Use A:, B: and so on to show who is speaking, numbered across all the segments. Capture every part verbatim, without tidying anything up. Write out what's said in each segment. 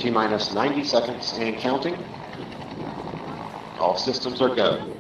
A: T-minus ninety seconds and counting. All systems are go.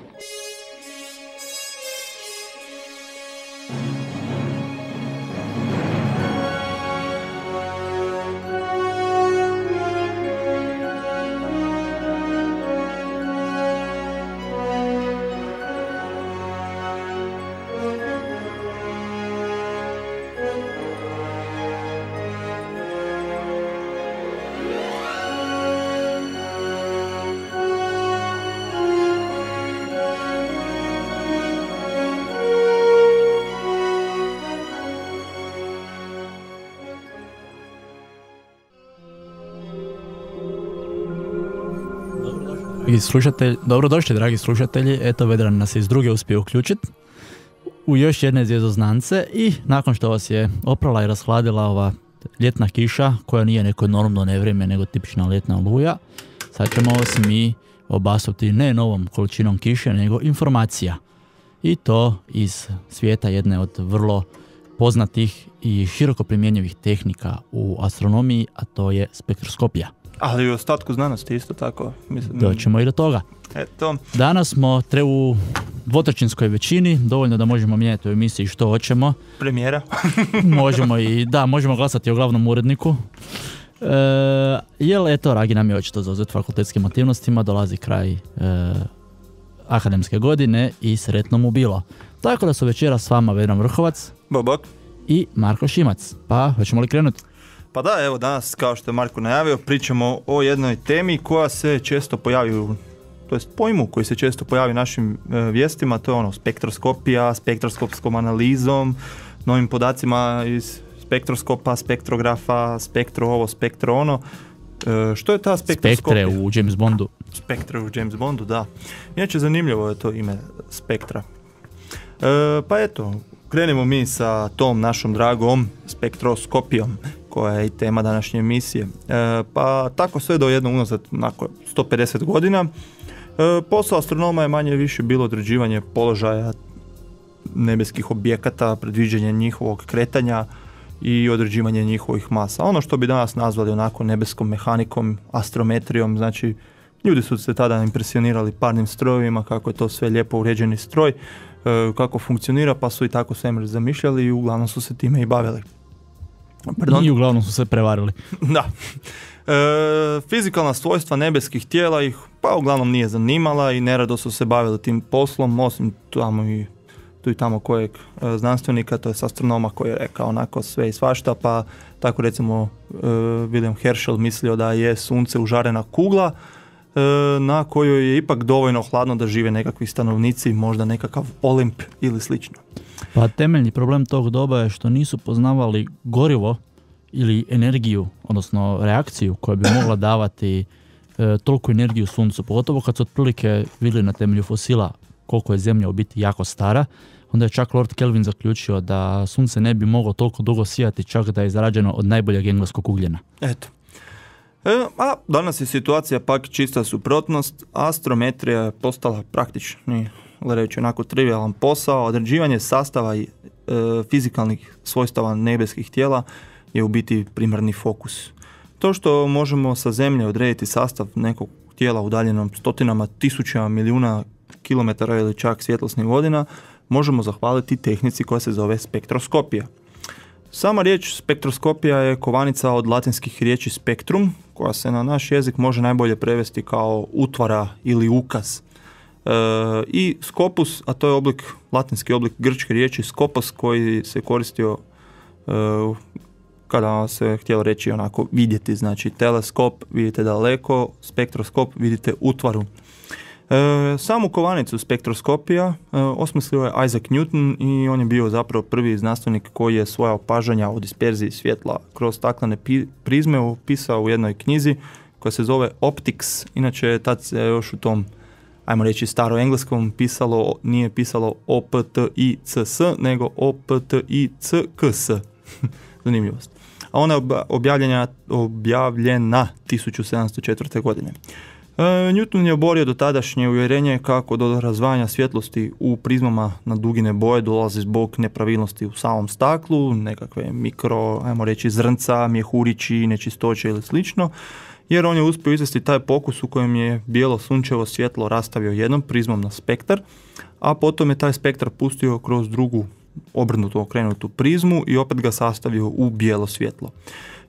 B: Slušatelj, dobrodošli dragi slušatelji, eto Vedran nas je iz druge uspio uključiti u još jedne zvjezdoznance i nakon što vas je oprala i rashladila ova ljetna kiša koja nije neko normno nevrijeme nego tipična ljetna oluja, sad ćemo vas mi obasuti ne novom količinom kiše nego informacija i to iz svijeta jedne od vrlo poznatih i široko primjenjivih tehnika u astronomiji, a to je spektroskopija.
C: Ali i u ostatku znanosti isto tako. Mislim,
B: doćemo i do toga.
C: Eto.
B: Danas smo tre u dvotrećinskoj većini, dovoljno da možemo mijenjati u emisiji što hoćemo.
C: Premijera.
B: možemo i, da, možemo glasati o glavnom uredniku. E, jel, eto, Ragi nam je očito zauzet fakultetskim aktivnostima, dolazi kraj e, akademske godine i sretno mu bilo. Tako da su večeras s vama Vedran Vrhovac
C: Bobok
B: i Marko Šimac. Pa, hoćemo li krenuti?
C: Pa da, evo danas, kao što je Marko najavio, pričamo o jednoj temi koja se često pojavi u, to jest pojmu koji se često pojavi u našim e, vijestima, to je ono spektroskopija, spektroskopskom analizom, novim podacima iz spektroskopa, spektrografa, spektro ovo, spektro ono. E, što je ta spektroskopija?
B: Spektre u James Bondu.
C: Spektre u James Bondu, da. Inače zanimljivo je to ime spektra. E, pa eto, krenemo mi sa tom našom dragom spektroskopijom, koja je i tema današnje emisije. E, pa tako sve do jednog unazad nakon sto pedeset godina. E, posao astronoma je manje više bilo određivanje položaja nebeskih objekata, predviđanje njihovog kretanja i određivanje njihovih masa. Ono što bi danas nazvali onako nebeskom mehanikom, astrometrijom, znači ljudi su se tada impresionirali parnim strojevima, kako je to sve lijepo uređeni stroj, e, kako funkcionira, pa su i tako svemir zamišljali i uglavnom su se time i bavili.
B: Pardon? I uglavnom su se prevarili.
C: Da. E, fizikalna svojstva nebeskih tijela ih pa uglavnom nije zanimala i nerado su se bavili tim poslom, osim tamo i tu i tamo kojeg e, znanstvenika, to je astronoma koji je rekao onako sve i svašta, pa tako recimo e, William Herschel mislio da je sunce užarena kugla e, na kojoj je ipak dovoljno hladno da žive nekakvi stanovnici, možda nekakav Olimp ili slično.
B: Pa temeljni problem tog doba je što nisu poznavali gorivo ili energiju, odnosno reakciju koja bi mogla davati e, toliku energiju suncu, pogotovo kad su otprilike vidjeli na temelju fosila koliko je Zemlja u biti jako stara, onda je čak Lord Kelvin zaključio da sunce ne bi moglo toliko dugo sijati, čak da je izrađeno od najboljeg engleskog ugljena.
C: Eto. E, a danas je situacija pak čista suprotnost, astrometrija je postala praktični, gledajući onako trivialan posao, određivanje sastava i e, fizikalnih svojstava nebeskih tijela je u biti primarni fokus. To što možemo sa Zemlje odrediti sastav nekog tijela udaljenom stotinama tisuća milijuna kilometara ili čak svjetlosnih godina, možemo zahvaliti tehnici koja se zove spektroskopija. Sama riječ spektroskopija je kovanica od latinskih riječi spektrum, koja se na naš jezik može najbolje prevesti kao utvara ili ukaz. E, i skopus, a to je oblik, latinski oblik grčke riječi skopos, koji se koristio e, kada se htjelo reći onako vidjeti, znači teleskop vidite daleko, spektroskop vidite utvaru. E, samu kovanicu spektroskopija e, osmislio je Isaac Newton i on je bio zapravo prvi znanstvenik koji je svoja opažanja o disperziji svjetla kroz staklene pi- prizme opisao u jednoj knjizi koja se zove Optics. Inače tad se još u tom, ajmo reći staro engleskom, pisalo, nije pisalo O P T I C S nego O P T I C K S. Zanimljivost. A ona je objavljena, objavljena tisuću sedamsto četvrte. godine. E, Newton je oborio do tadašnje uvjerenje kako do razvajanja svjetlosti u prizmama na dugine boje dolazi zbog nepravilnosti u samom staklu, nekakve mikro, ajmo reći, zrnca, mjehurići, nečistoće ili slično, jer on je uspio izvesti taj pokus u kojem je bijelo sunčevo svjetlo rastavio jednom prizmom na spektar, a potom je taj spektar pustio kroz drugu obrnutu okrenutu prizmu i opet ga sastavio u bijelo svjetlo.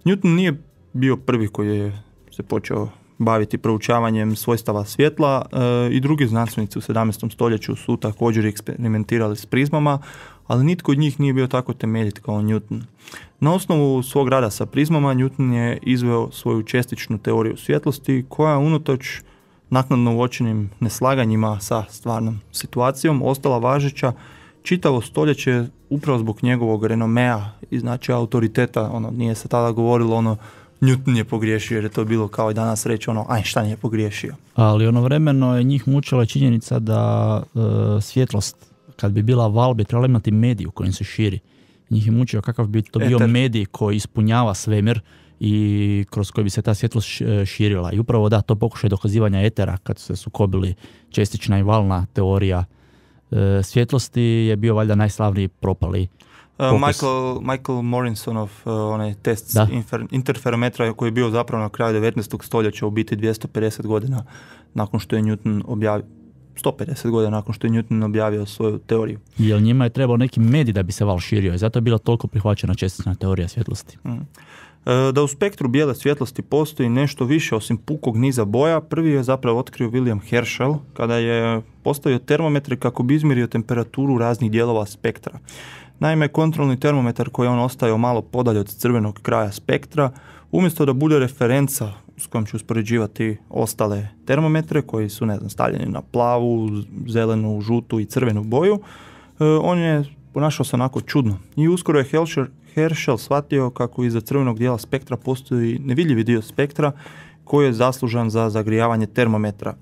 C: Newton nije bio prvi koji je se počeo baviti proučavanjem svojstava svjetla e, i drugi znanstvenici u sedamnaestom stoljeću su također eksperimentirali s prizmama, ali nitko od njih nije bio tako temeljit kao Newton. Na osnovu svog rada sa prizmama Newton je izveo svoju čestičnu teoriju svjetlosti koja unatoč naknadno uočenim neslaganjima sa stvarnom situacijom ostala važeća čitavo stoljeće upravo zbog njegovog renomea i znači autoriteta. Ono, nije se tada govorilo ono Newton je pogriješio, jer je to bilo kao i danas reći ono Einstein je pogriješio.
B: Ali ono vremeno je njih mučila činjenica da e, svjetlost, kad bi bila val, bi trebala imati medij u kojem se širi. Njih je mučio kakav bi to bio
C: Eter.
B: medij koji ispunjava svemir i kroz koji bi se ta svjetlost širila. I upravo da, to pokušaj dokazivanja etera, kad se sukobili čestična i valna teorija e, svjetlosti, je bio valjda najslavniji propali.
C: Uh, Michael, Michael Morisonov uh, onaj test infer, interferometra koji je bio zapravo na kraju devetnaestog stoljeća, u biti dvjesto pedeset godina nakon što je Newton objavio, sto pedeset godina nakon što je Newton objavio svoju teoriju.
B: Jer njima je trebao neki medij da bi se val širio i zato je bila toliko prihvaćena čestična teorija svjetlosti.
C: Mm. Da u spektru bijele svjetlosti postoji nešto više osim pukog niza boja, prvi je zapravo otkrio William Herschel kada je postavio termometre kako bi izmjerio temperaturu raznih dijelova spektra. Naime, kontrolni termometar koji je on ostavio malo podalje od crvenog kraja spektra, umjesto da bude referenca s kojom će uspoređivati ostale termometre koji su, ne znam, stavljeni na plavu, zelenu, žutu i crvenu boju, on je ponašao se onako čudno. I uskoro je Herschel, Herschel shvatio kako iza crvenog dijela spektra postoji nevidljivi dio spektra koji je zaslužan za zagrijavanje termometra,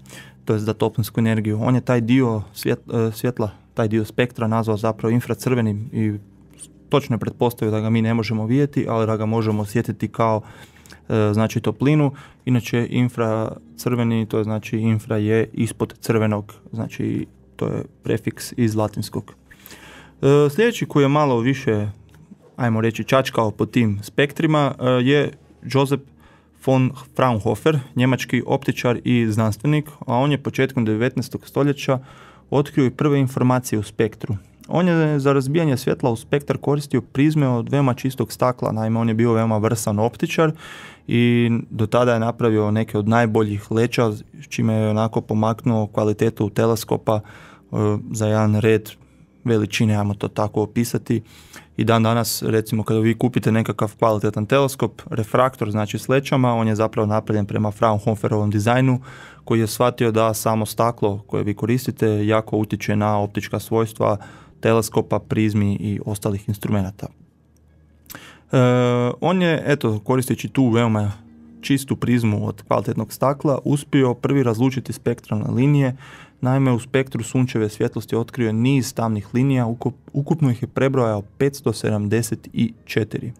C: to je za toplinsku energiju. On je taj dio svjet, svjetla, taj dio spektra nazvao zapravo infracrvenim i točno je pretpostavio da ga mi ne možemo vidjeti, ali da ga možemo osjetiti kao e, znači toplinu. Inače infracrveni, to je znači infra je ispod crvenog, znači to je prefiks iz latinskog. E, sljedeći koji je malo više, ajmo reći, čačkao po tim spektrima e, je Joseph von Fraunhofer, njemački optičar i znanstvenik, a on je početkom devetnaestog stoljeća otkrio i prve informacije u spektru. On je za razbijanje svjetla u spektar koristio prizme od veoma čistog stakla, naime on je bio veoma vrsan optičar i do tada je napravio neke od najboljih leća, s čime je onako pomaknuo kvalitetu teleskopa e, za jedan red veličine, ajmo to tako opisati. I dan danas, recimo, kada vi kupite nekakav kvalitetan teleskop, refraktor, znači s lećama, on je zapravo napravljen prema Fraunhoferovom dizajnu, koji je shvatio da samo staklo koje vi koristite jako utječe na optička svojstva teleskopa, prizmi i ostalih instrumenata. E, on je, eto, koristeći tu veoma čistu prizmu od kvalitetnog stakla, uspio prvi razlučiti spektralne linije. Naime, u spektru sunčeve svjetlosti otkrio je niz tamnih linija, ukup, ukupno ih je prebrojao petsto sedamdeset četiri.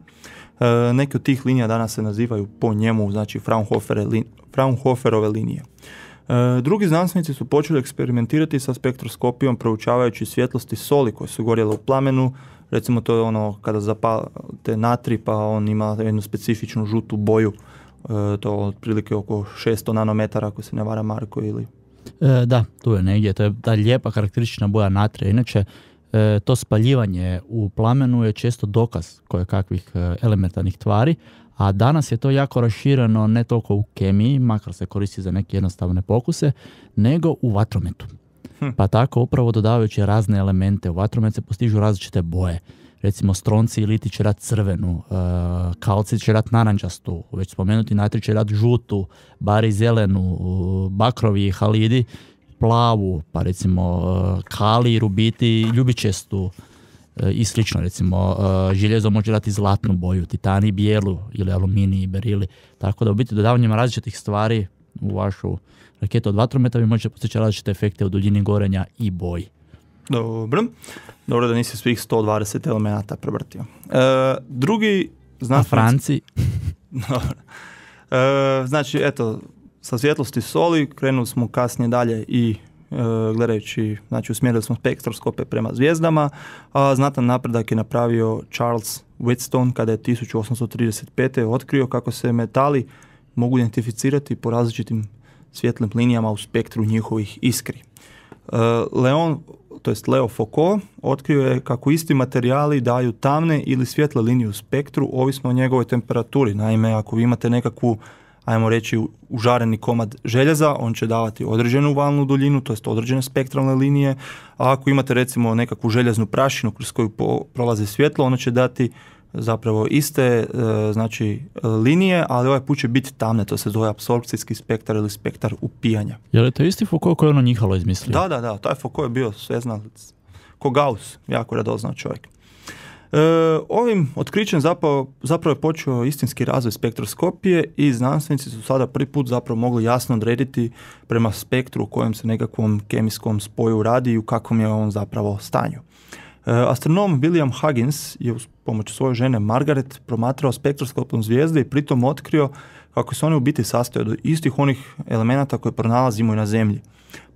C: E, neke od tih linija danas se nazivaju po njemu, znači Fraunhoferove, Fraunhoferove linije. E, drugi znanstvenici su počeli eksperimentirati sa spektroskopijom proučavajući svjetlosti soli koje su gorjele u plamenu. Recimo to je ono kada zapalite natri pa on ima jednu specifičnu žutu boju, e, to otprilike oko šesto nanometara ako se ne vara Marko ili...
B: E, da, tu je negdje, to je ta lijepa karakteristična boja natrija. Inače, e, to spaljivanje u plamenu je često dokaz koje kakvih e, elementarnih tvari, a danas je to jako rašireno ne toliko u kemiji, makar se koristi za neke jednostavne pokuse, nego u vatrometu. Hm. Pa tako upravo dodavajući razne elemente u vatromet se postižu različite boje. Recimo stronci i liti će dati crvenu, e, kalcij će dati narančastu, već spomenuti natri će dati žutu, bari zelenu, bakrovi i halidi plavu, pa recimo e, kalij, rubiti ljubičestu e, i slično. Recimo e, željezo može dati zlatnu boju, titani bijelu ili aluminij i berili. Tako da u biti dodavanjem različitih stvari u vašu raketu od vatrometa vi možete postići različite efekte u duljini gorenja i boji.
C: Dobro. Dobro da nisi svih sto dvadeset elemenata prevrtio. E, drugi znanstvenici...
B: A Franci?
C: Dobro. E, znači, eto, sa svjetlosti soli krenuli smo kasnije dalje i e, gledajući, znači usmjerili smo spektroskope prema zvijezdama, a znatan napredak je napravio Charles Wheatstone kada je tisuću osamsto trideset pete. otkrio kako se metali mogu identificirati po različitim svjetlim linijama u spektru njihovih iskri. E, Leon, to jest Leo Foucault, otkrio je kako isti materijali daju tamne ili svjetle linije u spektru ovisno o njegovoj temperaturi. Naime, ako vi imate nekakvu, ajmo reći, užareni komad željeza, on će davati određenu valnu duljinu, to jest određene spektralne linije, a ako imate recimo nekakvu željeznu prašinu kroz koju po, prolazi svjetlo, ono će dati zapravo iste e, znači linije, ali ovaj put će biti tamne, to se zove apsorpcijski spektar ili spektar upijanja.
B: Je li to isti Foucault koji je ono njihalo izmislio?
C: Da, da, da, taj Foucault je bio sveznalac, ko Gauss, jako radoznao čovjek. E, ovim otkrićem zapravo, zapravo je počeo istinski razvoj spektroskopije i znanstvenici su sada prvi put zapravo mogli jasno odrediti prema spektru u kojem se nekakvom kemijskom spoju radi i u kakvom je on zapravo stanju. E, astronom William Huggins je uz pomoć svoje žene Margaret promatrao spektroskopom zvijezde i pritom otkrio kako se one u biti sastoje od istih onih elemenata koje pronalazimo i na Zemlji.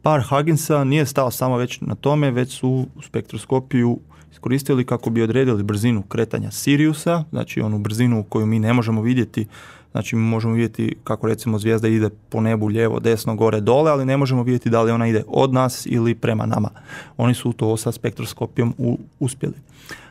C: Par Hugginsa nije stao samo već na tome, već su u spektroskopiju iskoristili kako bi odredili brzinu kretanja Siriusa, znači onu brzinu koju mi ne možemo vidjeti. Znači mi možemo vidjeti kako recimo zvijezda ide po nebu lijevo, desno, gore, dole, ali ne možemo vidjeti da li ona ide od nas ili prema nama. Oni su to sa spektroskopijom u, uspjeli.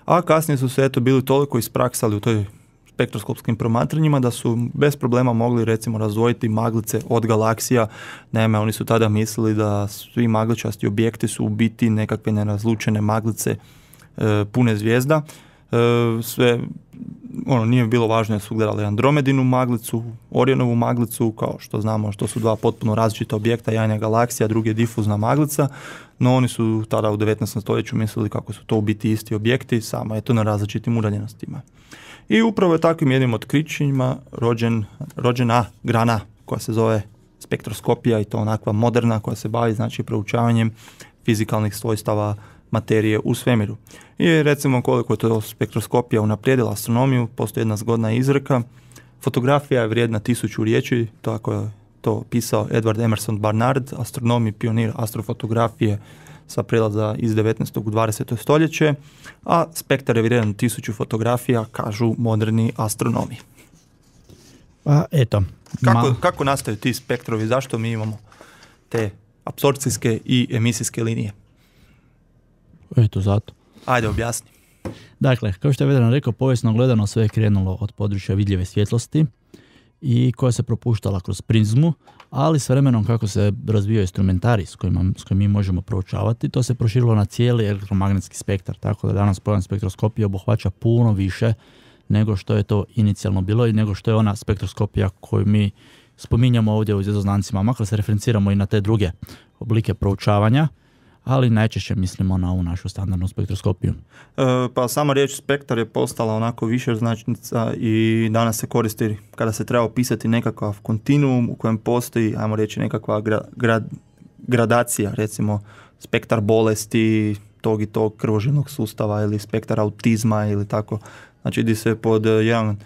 C: A kasnije su se eto bili toliko ispraksali u toj spektroskopskim promatranjima da su bez problema mogli recimo razdvojiti maglice od galaksija. Naime, oni su tada mislili da svi magličasti objekti su u biti nekakve nerazlučene maglice e, pune zvijezda. E, sve, ono, nije bilo važno da su gledali Andromedinu maglicu, Orionovu maglicu, kao što znamo što su dva potpuno različita objekta, jedan je galaksija, drugi je difuzna maglica, no oni su tada u devetnaestom stoljeću mislili kako su to u biti isti objekti, samo je to na različitim udaljenostima. I upravo je takvim jednim otkrićima rođen, rođena grana koja se zove spektroskopija, i to onakva moderna koja se bavi znači proučavanjem fizikalnih svojstava materije u svemiru. I recimo koliko je to spektroskopija unaprijedila astronomiju, postoji jedna zgodna izreka. Fotografija je vrijedna tisuću riječi, tako je to pisao Edward Emerson Barnard, astronom i pionir astrofotografije sa prelaza iz devetnaestog u dvadeseto stoljeće, a spektar je vrijedan tisuću fotografija, kažu moderni astronomi.
B: Pa eto.
C: Kako,
B: Ma...
C: kako nastaju ti spektrovi, zašto mi imamo te apsorpcijske i emisijske linije?
B: Eto, zato.
C: Ajde, objasni.
B: Dakle, kao što je Vedran rekao, povijesno gledano sve je krenulo od područja vidljive svjetlosti i koja se propuštala kroz prizmu, ali s vremenom kako se razvijao instrumentarij s kojima, s kojim mi možemo proučavati, to se proširilo na cijeli elektromagnetski spektar, tako da danas pojam spektroskopije obuhvaća puno više nego što je to inicijalno bilo i nego što je ona spektroskopija koju mi spominjamo ovdje u zvjezdoznancima, makar se referenciramo i na te druge oblike proučavanja, ali najčešće mislimo na ovu našu standardnu spektroskopiju.
C: E, pa sama riječ spektar je postala onako višeznačnica i danas se koristi kada se treba opisati nekakav kontinuum u kojem postoji, ajmo reći, nekakva gra, gra, gradacija, recimo spektar bolesti tog i tog krvožilnog sustava ili spektar autizma ili tako. Znači ide se pod jedan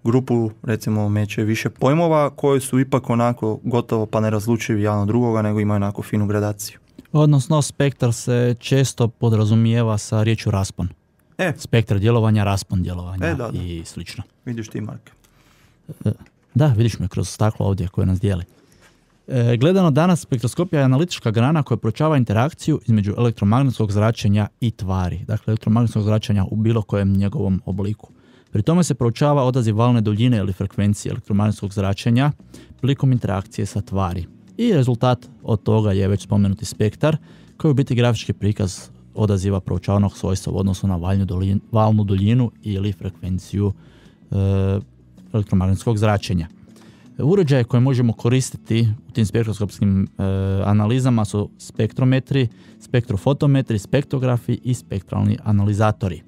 C: grupu, recimo, meće više pojmova koji su ipak onako gotovo pa nerazlučivi jedan od drugoga, nego imaju onako finu gradaciju. Odnosno,
B: spektar se često podrazumijeva sa riječju raspon.
C: E.
B: Spektar djelovanja, raspon djelovanja
C: e, da, da.
B: i slično.
C: Vidiš ti, Mark.
B: Da, vidiš me kroz staklo ovdje koje nas dijeli. E, gledano danas, spektroskopija je analitička grana koja proučava interakciju između elektromagnetskog zračenja i tvari. Dakle, elektromagnetskog zračenja u bilo kojem njegovom obliku. Pri tome se proučava odaziv valne duljine ili frekvencije elektromagnetskog zračenja prilikom interakcije sa tvari. I rezultat od toga je već spomenuti spektar, koji je u biti grafički prikaz odaziva proučavanog svojstva u odnosu na valnu duljinu, valnu duljinu ili frekvenciju e, elektromagnetskog zračenja. Uređaje koje možemo koristiti u tim spektroskopskim e, analizama su spektrometri, spektrofotometri, spektrografi i spektralni analizatori.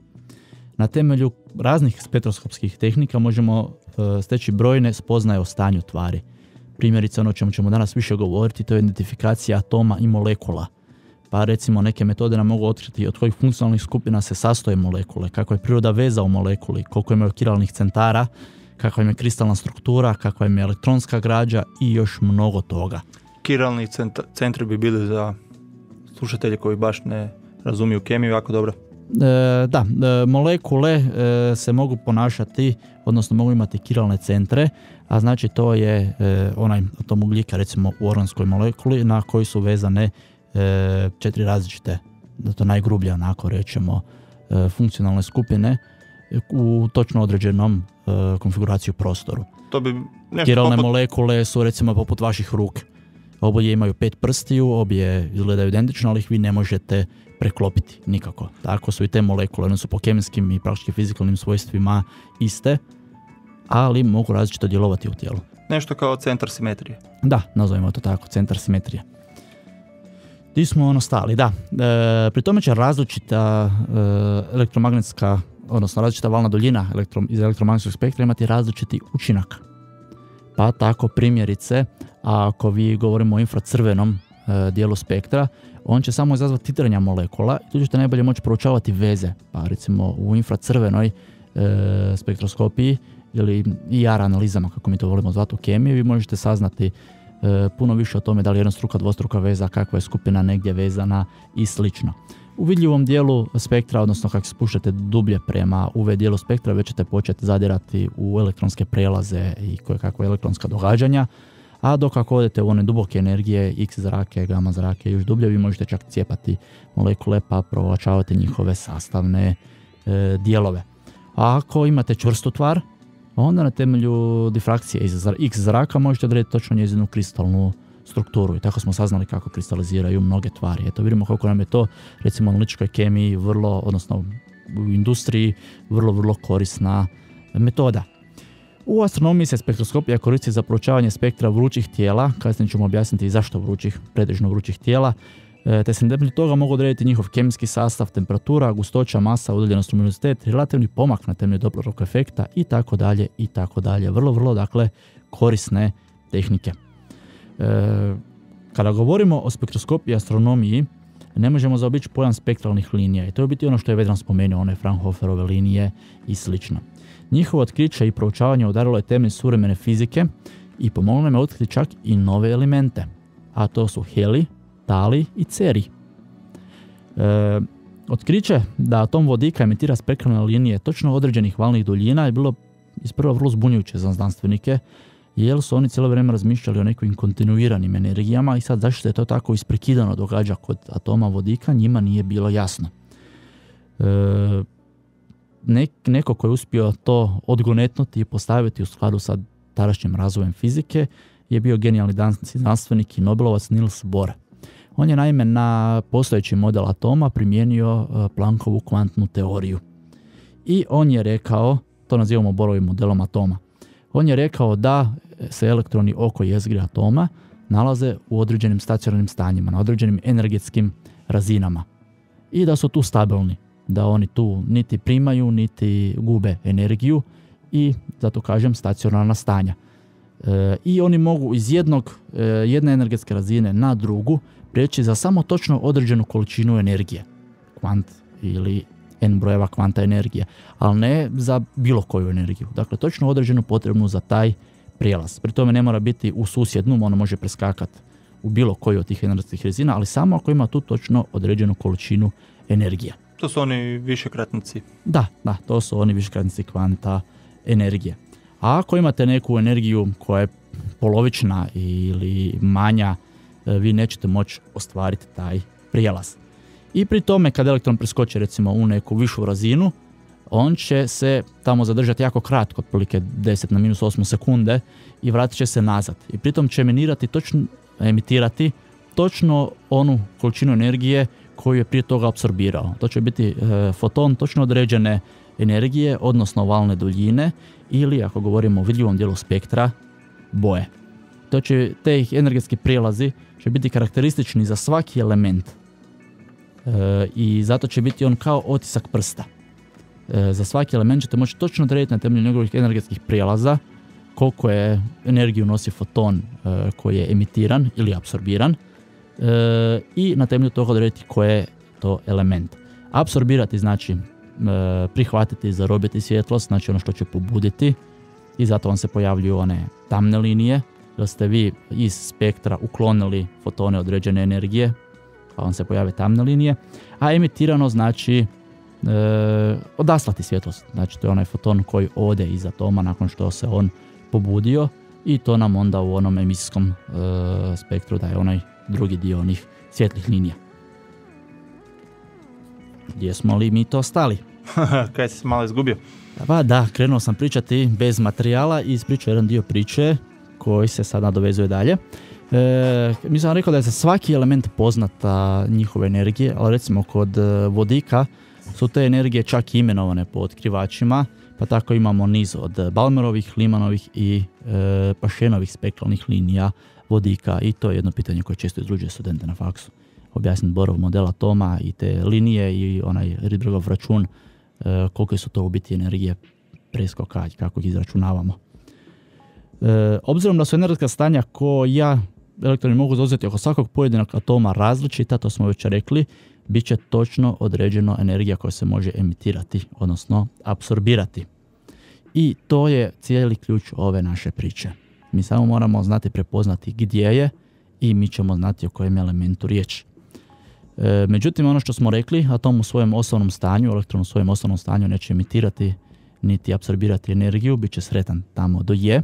B: Na temelju raznih spektroskopskih tehnika možemo e, steći brojne spoznaje o stanju tvari. Primjerice, ono o čemu ćemo danas više govoriti, to je identifikacija atoma i molekula. Pa recimo neke metode nam mogu otkriti od kojih funkcionalnih skupina se sastoje molekule, kako je priroda veza u molekuli, koliko imaju kiralnih centara, kakva im je kristalna struktura, kakva im je elektronska građa i još mnogo toga.
C: Kiralni centra, centri bi bili za slušatelje koji baš ne razumiju kemiju jako dobro.
B: E, da, e, molekule e, se mogu ponašati, odnosno mogu imati kiralne centre, a znači to je e, onaj atom ugljika recimo u organskoj molekuli na koji su vezane e, četiri različite, da to najgrublje onako rećemo, e, funkcionalne skupine u točno određenom e, konfiguraciju prostoru.
C: To bi nešto
B: Kiralne
C: poput...
B: molekule su recimo poput vaših ruke. Obje imaju pet prstiju, obje izgledaju identično, ali ih vi ne možete preklopiti nikako. Tako su i te molekule, one su po kemijskim i praktički fizikalnim svojstvima iste, ali mogu različito djelovati u tijelu.
C: Nešto kao centar simetrije.
B: Da, nazovimo to tako, centar simetrije. Di smo ono stali, da. E, pri tome će različita e, elektromagnetska, odnosno različita valna duljina elektro, iz elektromagnetskog spektra imati različiti učinak. Pa tako primjerice, ako vi govorimo o infracrvenom e, dijelu spektra, on će samo izazvati titranja molekula i tu ćete najbolje moći proučavati veze. Pa recimo u infracrvenoj e, spektroskopiji ili I R analizama, kako mi to volimo zvati u kemiji, vi možete saznati e, puno više o tome da li je jednostruka, dvostruka veza, kakva je skupina negdje vezana i slično. U vidljivom dijelu spektra, odnosno kako se spuštate dublje prema U V dijelu spektra, već ćete početi zadirati u elektronske prelaze i koje kakve elektronska događanja, a dok ako odete u one duboke energije, X zrake, gamma zrake i još dublje, vi možete čak cijepati molekule pa proučavati njihove sastavne e, dijelove. A ako imate čvrstu tvar, onda na temelju difrakcije iz X zraka možete odrediti točno njezinu kristalnu strukturu i tako smo saznali kako kristaliziraju mnoge tvari. Eto, vidimo kako nam je to recimo u analitičkoj kemiji vrlo, odnosno u industriji vrlo, vrlo korisna metoda. U astronomiji se spektroskopija koristi za proučavanje spektra vrućih tijela, kasnije ćemo objasniti i zašto vrućih, pretežno vrućih tijela, te se na temelju toga mogu odrediti njihov kemijski sastav, temperatura, gustoća, masa, udaljenost, luminositet, relativni pomak na temelju Dopplerovog efekta i tako dalje i tako dalje. Vrlo, vrlo dakle korisne tehnike. E, kada govorimo o spektroskopiji i astronomiji, ne možemo zaobići pojam spektralnih linija i to je biti ono što je Vedran spomenuo, one Fraunhoferove linije i slično. Njihovo otkriće i proučavanje udarilo je temelj suvremene fizike i pomoglo nam je otkriti čak i nove elemente, a to su heli, tali i ceri. E, otkriće da atom vodika emitira spektralne linije točno određenih valnih duljina je bilo isprva vrlo zbunjujuće za znanstvenike, jer su oni cijelo vrijeme razmišljali o nekim kontinuiranim energijama i sad zašto se to tako isprekidano događa kod atoma vodika, njima nije bilo jasno. E, nek, neko ko je uspio to odgonetnuti i postaviti u skladu sa tadašnjim razvojem fizike je bio genijalni danski znanstvenik i Nobelovac Niels Bohr. On je naime na postojeći model atoma primijenio Planckovu kvantnu teoriju. I on je rekao, to nazivamo Bohrovim modelom atoma, on je rekao da se elektroni oko jezgre atoma nalaze u određenim stacionarnim stanjima, na određenim energetskim razinama. I da su tu stabilni, da oni tu niti primaju, niti gube energiju i zato kažem stacionarna stanja. E, I oni mogu iz jednog, e, jedne energetske razine na drugu prijeći za samo točno određenu količinu energije, kvant ili n brojeva kvanta energije, ali ne za bilo koju energiju. Dakle, točno određenu potrebnu za taj prijelaz. Pri tome ne mora biti u susjednu, ono može preskakati u bilo koju od tih energetskih razina, ali samo ako ima tu točno određenu količinu energije.
C: To su oni višekratnici.
B: Da, da, to su oni višekratnici kvanta energije. A ako imate neku energiju koja je polovična ili manja, vi nećete moći ostvariti taj prijelaz. I pri tome kad elektron preskoči recimo u neku višu razinu, on će se tamo zadržati jako kratko, otprilike deset na minus osam sekunde i vratit će se nazad. I pritom će eminirati točno, emitirati točno onu količinu energije koju je prije toga apsorbirao. To će biti e, foton točno određene energije, odnosno valne duljine ili, ako govorimo o vidljivom dijelu spektra, boje. To će, te energetski prijelazi će biti karakteristični za svaki element e, i zato će biti on kao otisak prsta. E, za svaki element ćete moći točno odrediti na temelju njegovih energetskih prijelaza koliko je energiju nosi foton e, koji je emitiran ili apsorbiran e, i na temelju toga odrediti koji je to element. Apsorbirati znači e, prihvatiti, zarobiti svjetlost, znači ono što će pobuditi i zato vam se pojavljuju one tamne linije, jer ste vi iz spektra uklonili fotone određene energije, pa vam se pojave tamne linije, a emitirano znači e, odaslati svjetlost. Znači to je onaj foton koji ode iz atoma nakon što se on pobudio i to nam onda u onom emisijskom e, spektru daje onaj drugi dio onih svjetlih linija. Gdje smo li mi to stali?
C: Kaj si se malo izgubio?
B: Pa da, krenuo sam pričati bez materijala i ispričao jedan dio priče koji se sad nadovezuje dalje. E, mi sam rekao da je za svaki element poznata njihove energije, ali recimo kod vodika su te energije čak imenovane po otkrivačima, pa tako imamo niz od Balmerovih, Limanovih i e, Pašenovih spektralnih linija vodika i to je jedno pitanje koje često izruđuje studente na faksu. Objasniti Borov model atoma i te linije i onaj Rydbergov račun e, koliko su to u biti energije preskoka i kako ih izračunavamo. E, obzirom da su energetska stanja koja elektroni mogu zauzeti oko svakog pojedinog atoma različita, to smo već rekli, bit će točno određeno energija koja se može emitirati, odnosno apsorbirati. I to je cijeli ključ ove naše priče. Mi samo moramo znati prepoznati gdje je i mi ćemo znati o kojem elementu riječ. E, međutim, ono što smo rekli, atom u svojem osnovnom stanju, elektron u svojem osnovnom stanju neće emitirati niti apsorbirati energiju, bit će sretan tamo do je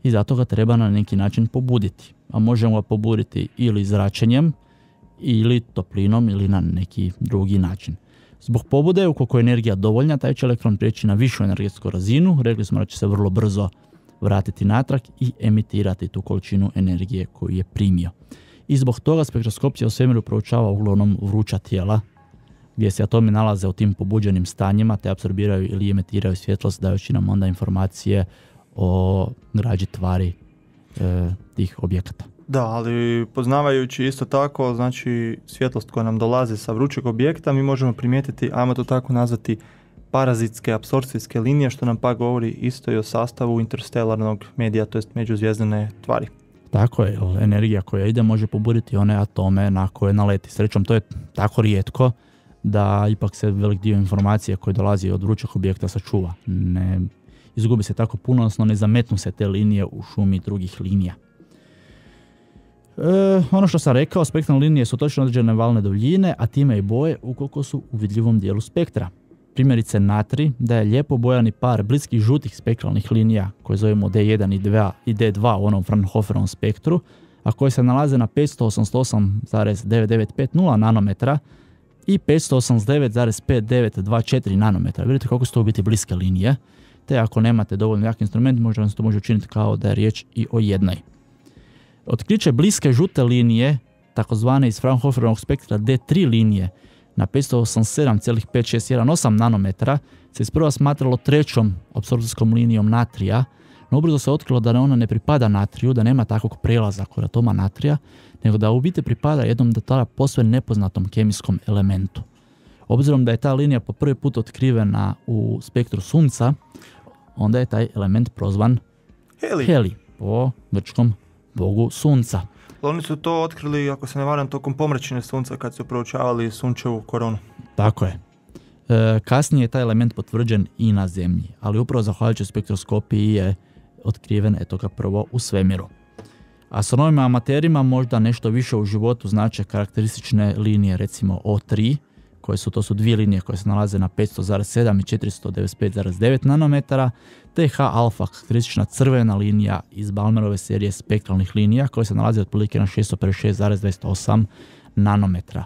B: i zato ga treba na neki način pobuditi. A možemo ga pobuditi ili zračenjem, ili toplinom, ili na neki drugi način. Zbog pobude, ukoliko je energija dovoljna, taj će elektron prijeći na višu energetsku razinu, rekli smo da će se vrlo brzo vratiti natrag i emitirati tu količinu energije koju je primio. I zbog toga spektroskopija u svemiru proučava uglavnom vruća tijela, gdje se atomi nalaze u tim pobuđenim stanjima, te apsorbiraju ili emitiraju svjetlost, dajući nam onda informacije o građi tvari e, tih objekata.
C: Da, ali poznavajući isto tako, znači svjetlost koja nam dolazi sa vrućeg objekta, mi možemo primijetiti, ajmo to tako nazvati, parazitske apsorpcijske linije, što nam pa govori isto i o sastavu interstelarnog medija, to jest međuzvijezdane tvari.
B: Tako je, energija koja ide može pobuditi one atome na koje naleti. Srećom, to je tako rijetko da ipak se velik dio informacije koje dolazi od vrućeg objekta sačuva. Ne izgubi se tako puno, odnosno ne zametnu se te linije u šumi drugih linija. E, ono što sam rekao, spektralne linije su točno određene valne duljine, a time i boje ukoliko su u vidljivom dijelu spektra. Primjerice natri da je lijepo bojani par bliskih žutih spektralnih linija koje zovemo D jedan i D dva u onom Fraunhoferovom spektru, a koje se nalaze na petsto osamdeset osam zarez devet devet pet nula nanometra i petsto osamdeset devet zarez pet devet dva četiri nanometra. Vidite kako su to u biti bliske linije, te ako nemate dovoljno jak instrument, možda vam se to može učiniti kao da je riječ i o jednoj. Otkriće bliske žute linije, takozvane iz Fraunhoferovog spektra D tri linije, na petsto osamdeset sedam zarez pet šest jedan osam nanometra se isprva smatralo trećom apsorpcijskom linijom natrija, no ubrzo se otkrilo da ona ne pripada natriju, da nema takvog prelaza kod atoma natrija, nego da u biti pripada jednom do tada posve nepoznatom kemijskom elementu. Obzirom da je ta linija po prvi put otkrivena u spektru Sunca, onda je taj element prozvan
C: Heli.
B: Heli, po grčkom bogu Sunca.
C: Oni su to otkrili, ako se ne varam, tokom pomračine Sunca kad su proučavali sunčevu koronu.
B: Tako je. E, kasnije je taj element potvrđen i na Zemlji, ali upravo zahvaljujući spektroskopiji je otkriven eto ga prvo u svemiru. Astronomima amaterima možda nešto više u životu znače karakteristične linije, recimo O tri, koje su, to su dvije linije koje se nalaze na petsto zarez sedam i četiristo devedeset pet zarez devet nanometara, te H alfa, karakteristična crvena linija iz Balmerove serije spektralnih linija koje se nalaze otprilike na šesto pedeset šest zarez dvadeset osam nanometra.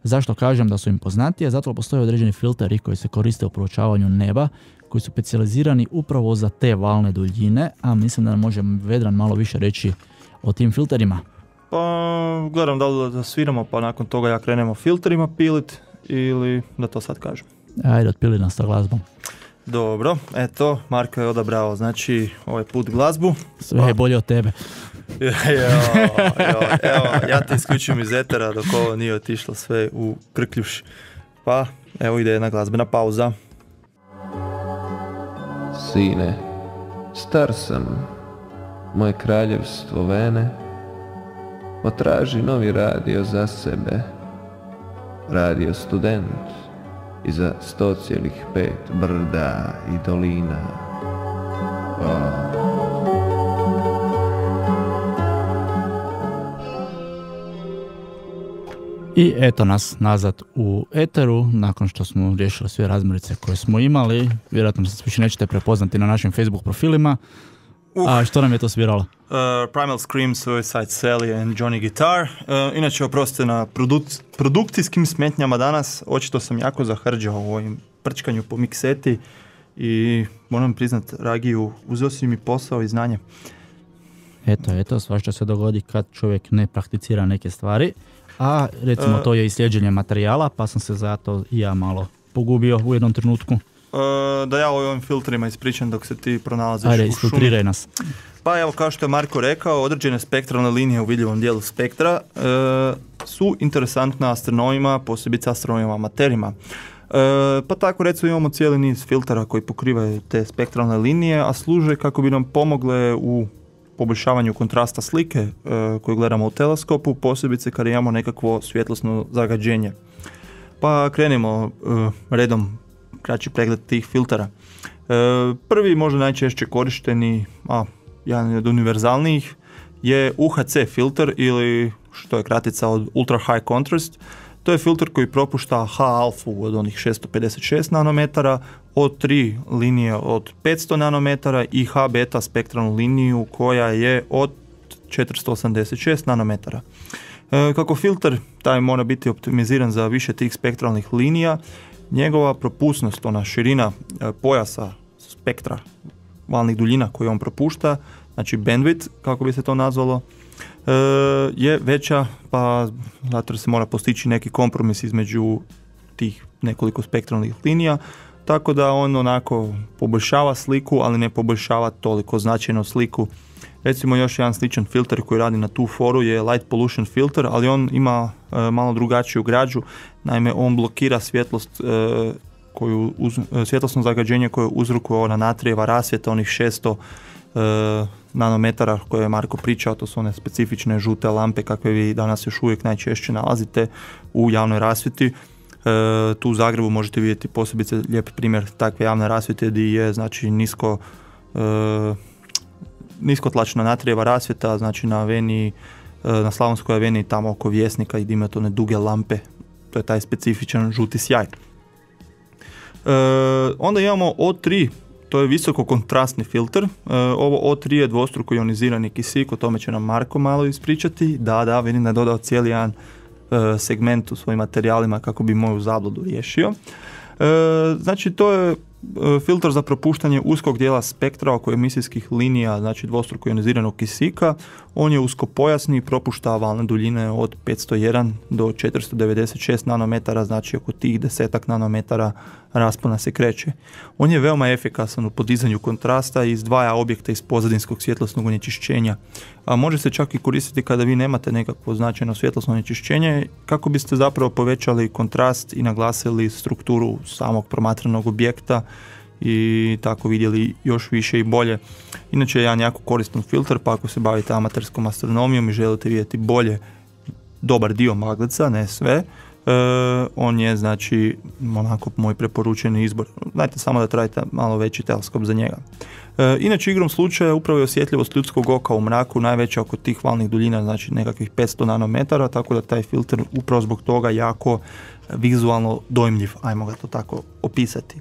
B: Zašto kažem da su im poznatije? Zato postoje određeni filteri koji se koriste u proučavanju neba, koji su specijalizirani upravo za te valne duljine, a mislim da može Vedran malo više reći o tim filterima.
C: Pa gledam da li da sviramo, pa nakon toga ja krenemo filterima pilit ili da to sad kažem.
B: Ajde, otpili nas sa glazbom.
C: Dobro, eto, Marko je odabrao, znači, ovaj put glazbu.
B: Sve je bolje od tebe.
C: jo, jo, evo, ja te isključujem iz etera dok ovo nije otišlo sve u krkljuš. Pa, evo ide jedna glazbena pauza.
D: Sine, star sam, moje kraljevstvo vene, potraži novi radio za sebe, radio student i za sto cijelih pet brda i dolina.
B: I eto nas nazad u eteru, nakon što smo riješili sve razmirice koje smo imali. Vjerojatno se više nećete prepoznati na našim Facebook profilima. Uh. A što nam je to sviralo?
C: Uh, Primal Scream, Suicide Sally and Johnny Guitar. Uh, inače, oprostite na produk- produkcijskim smetnjama danas. Očito sam jako zahrđao u ovim prčkanju po mikseti i moram priznat, Ragiju, uzeo si mi posao i znanje.
B: Eto, eto, svašta se dogodi kad čovjek ne prakticira neke stvari. A recimo uh, to je i sljeđenje materijala, pa sam se zato i ja malo pogubio u jednom trenutku.
C: Uh, da ja o ovim filtrima ispričam dok se ti pronalaziš
B: Ajde,
C: u šumi.
B: isfiltriraj nas.
C: Pa evo, kao što je Marko rekao, određene spektralne linije u vidljivom dijelu spektra uh, su interesantne astronomima, posebice astronomima amaterima. Uh, pa tako recimo imamo cijeli niz filtera koji pokrivaju te spektralne linije, a služe kako bi nam pomogle u poboljšavanju kontrasta slike uh, koju gledamo u teleskopu, posebice kada imamo nekakvo svjetlosno zagađenje. Pa krenimo uh, redom, kraći pregled tih filtera. Uh, prvi, možda najčešće korišteni, a jedan od univerzalnijih, je U H C filter ili što je kratica od Ultra High Contrast. To je filter koji propušta H-alfu od onih šesto pedeset šest nanometara, od tri linije od petsto nanometara i H-beta spektralnu liniju koja je od četiristo osamdeset šest nanometara. E, kako filter taj mora biti optimiziran za više tih spektralnih linija, njegova propusnost, ona širina e, pojasa spektra valnih duljina koju on propušta, znači bandwidth kako bi se to nazvalo, e, je veća, pa zato se mora postići neki kompromis između tih nekoliko spektralnih linija, tako da on onako poboljšava sliku, ali ne poboljšava toliko značajno sliku. Recimo još jedan sličan filter koji radi na tu foru je Light Pollution filter, ali on ima e, malo drugačiju građu, naime on blokira svjetlost, e, koju uz, svjetlosno zagađenje koje uzrokuje ona natrijeva rasvjeta, onih šesto e, nanometara koje je Marko pričao, to su one specifične žute lampe kakve vi danas još uvijek najčešće nalazite u javnoj rasvjeti. E, tu u Zagrebu možete vidjeti posebice lijep primjer takve javne rasvjete gdje je znači nisko e, niskotlačna natrijeva rasvjeta, znači na aveniji, e, na Slavonskoj aveniji tamo oko Vjesnika i gdje imate one duge lampe, to je taj specifičan žuti sjaj. E, onda imamo O tri, to je visoko kontrastni filter. E, ovo O tri je dvostruko ionizirani kisik, o tome će nam Marko malo ispričati. Da, da, vidim da je dodao cijeli jedan e, segment u svojim materijalima kako bi moju zabludu riješio. E, znači to je e, filter za propuštanje uskog dijela spektra oko emisijskih linija, znači dvostruko ioniziranog kisika. On je uskopojasni i propušta valne duljine od petsto jedan do četiristo devedeset šest nanometara, znači oko tih desetak nanometara raspona se kreće. On je veoma efikasan u podizanju kontrasta i izdvaja objekte iz pozadinskog svjetlosnog onečišćenja. A može se čak i koristiti kada vi nemate nekakvo značajno svjetlosno onečišćenje, kako biste zapravo povećali kontrast i naglasili strukturu samog promatranog objekta i tako vidjeli još više i bolje. Inače je jedan jako koristan filter, pa ako se bavite amaterskom astronomijom i želite vidjeti bolje dobar dio magleca, ne sve, Uh, on je znači onako moj preporučeni izbor. Znajte samo da trebate malo veći teleskop za njega. Uh, inače igrom slučaja upravo je osjetljivost ljudskog oka u mraku najveća oko tih valnih duljina, znači nekakvih petsto nanometara, tako da taj filter upravo zbog toga jako vizualno dojmljiv, ajmo ga to tako opisati.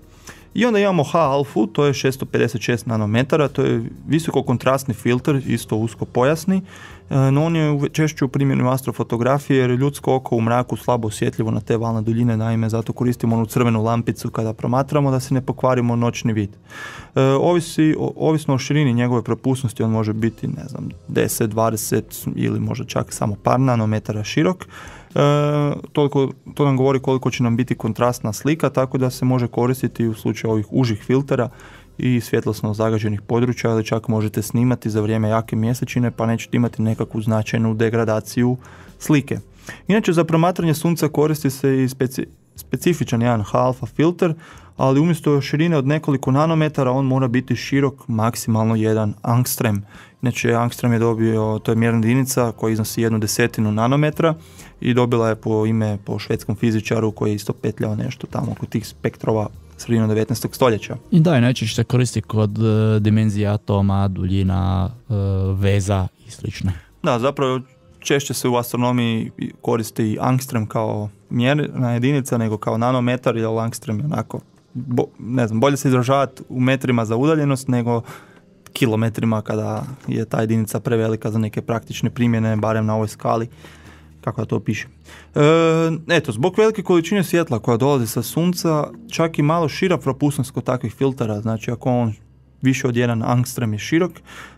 C: I onda imamo H-alfu, to je šesto pedeset šest nanometara, to je visoko kontrastni filter, isto usko pojasni, no on je češće u primjenu astrofotografije jer je ljudsko oko u mraku slabo osjetljivo na te valne duljine, naime zato koristimo onu crvenu lampicu kada promatramo da se ne pokvarimo noćni vid. E, ovisi, o, ovisno o širini njegove propusnosti on može biti ne znam, deset, dvadeset ili možda čak samo par nanometara širok. E, toliko, to nam govori koliko će nam biti kontrastna slika, tako da se može koristiti u slučaju ovih užih filtera i svjetlosno zagađenih područja, ali čak možete snimati za vrijeme jake mjesečine pa nećete imati nekakvu značajnu degradaciju slike. Inače za promatranje sunca koristi se i speci, specifičan jedan H-alfa filter, ali umjesto širine od nekoliko nanometara on mora biti širok maksimalno jedan angstrem. Inače angstrem je dobio, to je mjerna jedinica koja iznosi jednu desetinu nanometra i dobila je po ime po švedskom fizičaru koji je isto petljao nešto tamo oko tih spektrova sredinom devetnaestog stoljeća.
B: I da, i najčešće se koristi kod uh, dimenzija atoma, duljina, uh, veza i slično.
C: Da, zapravo češće se u astronomiji koristi angstrem kao mjerna jedinica nego kao nanometar, jer angstrem je onako, bo, ne znam, bolje se izražavati u metrima za udaljenost nego kilometrima kada je ta jedinica prevelika za neke praktične primjene, barem na ovoj skali, kako da to piše. E, eto, zbog velike količine svjetla koja dolazi sa sunca, čak i malo šira propusnost kod takvih filtera, znači ako on više od jedan angstrem je širok,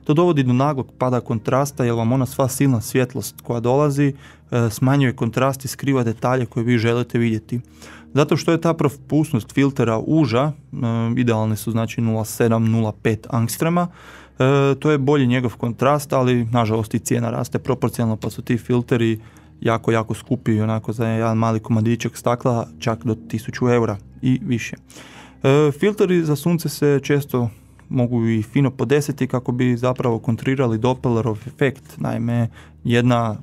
C: to dovodi do naglog pada kontrasta, jer vam ona sva silna svjetlost koja dolazi e, smanjuje kontrast i skriva detalje koje vi želite vidjeti. Zato što je ta propusnost filtera uža, e, idealne su znači nula zarez sedam do nula zarez pet angstrema, e, to je bolji njegov kontrast, ali nažalost i cijena raste proporcionalno, pa su ti filteri jako, jako skupi i onako za jedan mali komadićak stakla čak do tisuću eura i više. E, filteri za sunce se često mogu i fino podesiti kako bi zapravo kontrirali Dopplerov efekt. Naime, jedna,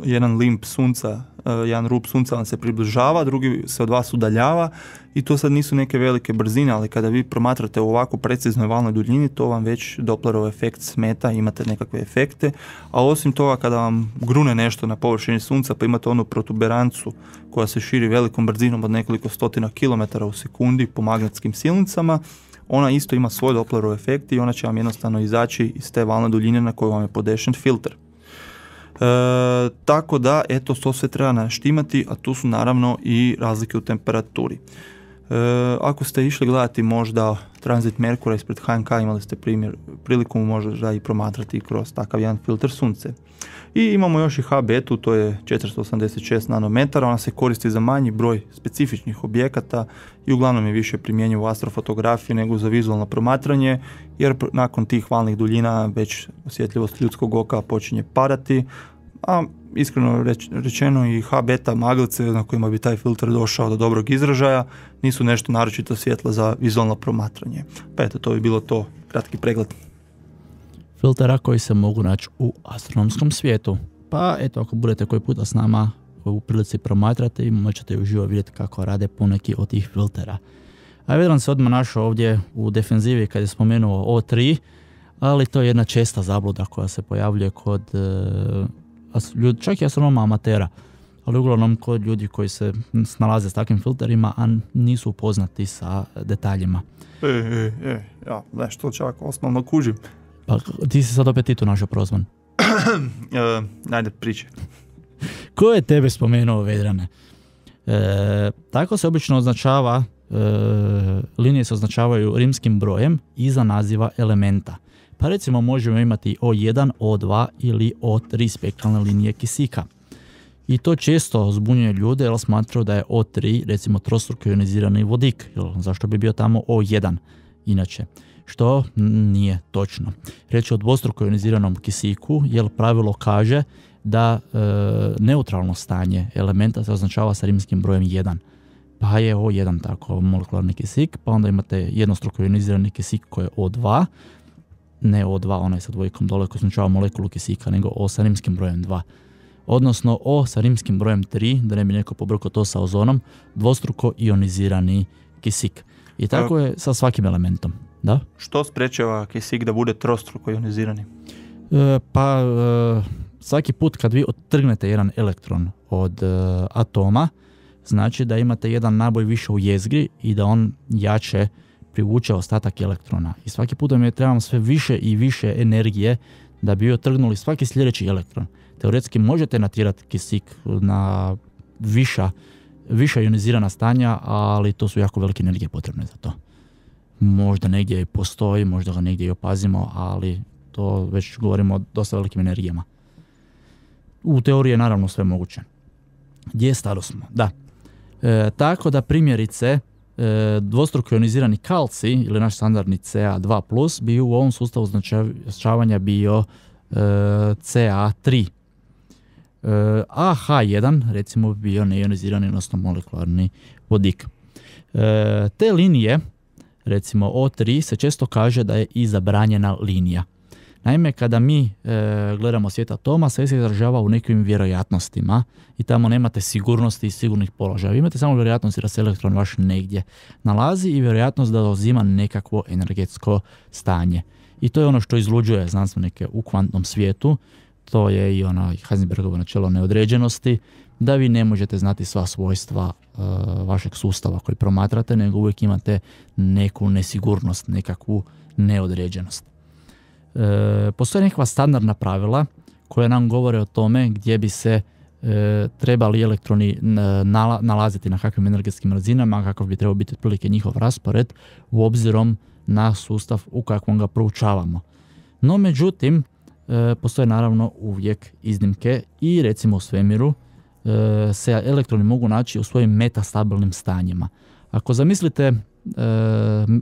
C: jedan limb sunca, jedan rub sunca vam se približava, drugi se od vas udaljava i to sad nisu neke velike brzine, ali kada vi promatrate u ovako preciznoj valnoj duljini, to vam već Dopplerov efekt smeta, imate nekakve efekte, a osim toga kada vam grune nešto na površini sunca pa imate onu protuberancu koja se širi velikom brzinom od nekoliko stotina kilometara u sekundi po magnetskim silnicama, ona isto ima svoj Dopplerov efekt i ona će vam jednostavno izaći iz te valne duljine na koju vam je podešen filter. E, tako da, eto, to sve treba naštimati, a tu su naravno i razlike u temperaturi. E, ako ste išli gledati možda tranzit Merkura ispred H N K, imali ste primjer, priliku možda i promatrati kroz takav jedan filter sunce. I imamo još i H betu, to je četiristo osamdeset šest nanometara, ona se koristi za manji broj specifičnih objekata i uglavnom je više primjenjiva u astrofotografiji nego za vizualno promatranje, jer nakon tih valnih duljina već osjetljivost ljudskog oka počinje padati, a iskreno reč, rečeno i H beta maglice na kojima bi taj filter došao do dobrog izražaja nisu nešto naročito svjetla za vizualno promatranje. Pa eto, to bi bilo to, kratki pregled
B: filtera koji se mogu naći u astronomskom svijetu. Pa eto, ako budete koji puta s nama u prilici promatrate i moćete uživo vidjeti kako rade poneki od tih filtera. A Vedran se odmah našao ovdje u defenzivi kad je spomenuo O tri, ali to je jedna česta zabluda koja se pojavljuje kod e, čak i astronoma amatera, ali uglavnom kod ljudi koji se snalaze s takvim filterima, a nisu upoznati sa detaljima.
C: E, e, e, ja, nešto čak osnovno kužim.
B: Pa ti si sad opet ti tu našao prozvan.
C: e, ajde, priče.
B: Ko je tebe spomenuo, Vedrane? E, tako se obično označava, e, linije se označavaju rimskim brojem iza naziva elementa. Pa recimo možemo imati O jedan, O dva ili O tri spektralne linije kisika. I to često zbunjuje ljude jer smatraju da je O tri recimo trostruko ionizirani vodik. Zašto bi bio tamo O jedan inače? Što nije točno. Riječ je o dvostruko ioniziranom kisiku, jer pravilo kaže da e, neutralno stanje elementa se označava sa rimskim brojem jedan. Pa je O jedan tako molekularni kisik, pa onda imate jednostruko ionizirani kisik koji je O dva, ne O dva, onaj sa dvojkom dole koji označava molekulu kisika, nego O sa rimskim brojem dva. Odnosno O sa rimskim brojem tri, da ne bi neko pobrkao to sa ozonom, dvostruko ionizirani kisik. I tako je sa svakim elementom. Da?
C: Što sprečava kisik da bude trostruko ionizirani?
B: E, pa e, svaki put kad vi odtrgnete jedan elektron od e, atoma, znači da imate jedan naboj više u jezgri i da on jače privuče ostatak elektrona. I svaki put vam je trebamo sve više i više energije da bi otrgnuli svaki sljedeći elektron. Teoretski možete natjerati kisik na viša, viša ionizirana stanja, ali to su jako velike energije potrebne za to. Možda negdje postoji, možda ga negdje i opazimo, ali to već govorimo o dosta velikim energijama. U teoriji je naravno sve moguće. Gdje stado smo? Da. E, tako da primjerice e, dvostruko ionizirani kalcij ili naš standardni C A dva plus bi u ovom sustavu označavanja bio e, C A tri. E, a H jedan recimo bi bio neionizirani, odnosno molekularni vodik. E, te linije, recimo O tri, se često kaže da je i zabranjena linija. Naime, kada mi e, gledamo svijet atoma, sve se izražava u nekim vjerojatnostima i tamo nemate sigurnosti i sigurnih položaja. Vi imate samo vjerojatnost da se elektron vaš negdje nalazi i vjerojatnost da uzima nekakvo energetsko stanje. I to je ono što izluđuje znanstvenike u kvantnom svijetu. To je i ono Heisenbergovo načelo neodređenosti, da vi ne možete znati sva svojstva e, vašeg sustava koji promatrate, nego uvijek imate neku nesigurnost, nekakvu neodređenost. E, postoje nekakva standardna pravila koja nam govore o tome gdje bi se e, trebali elektroni nala, nalaziti na kakvim energetskim razinama, kakav bi trebao biti otprilike njihov raspored u obzirom na sustav u kakvom ga proučavamo. No međutim, e, postoje naravno uvijek iznimke i recimo u svemiru e, se elektroni mogu naći u svojim metastabilnim stanjima. Ako zamislite e,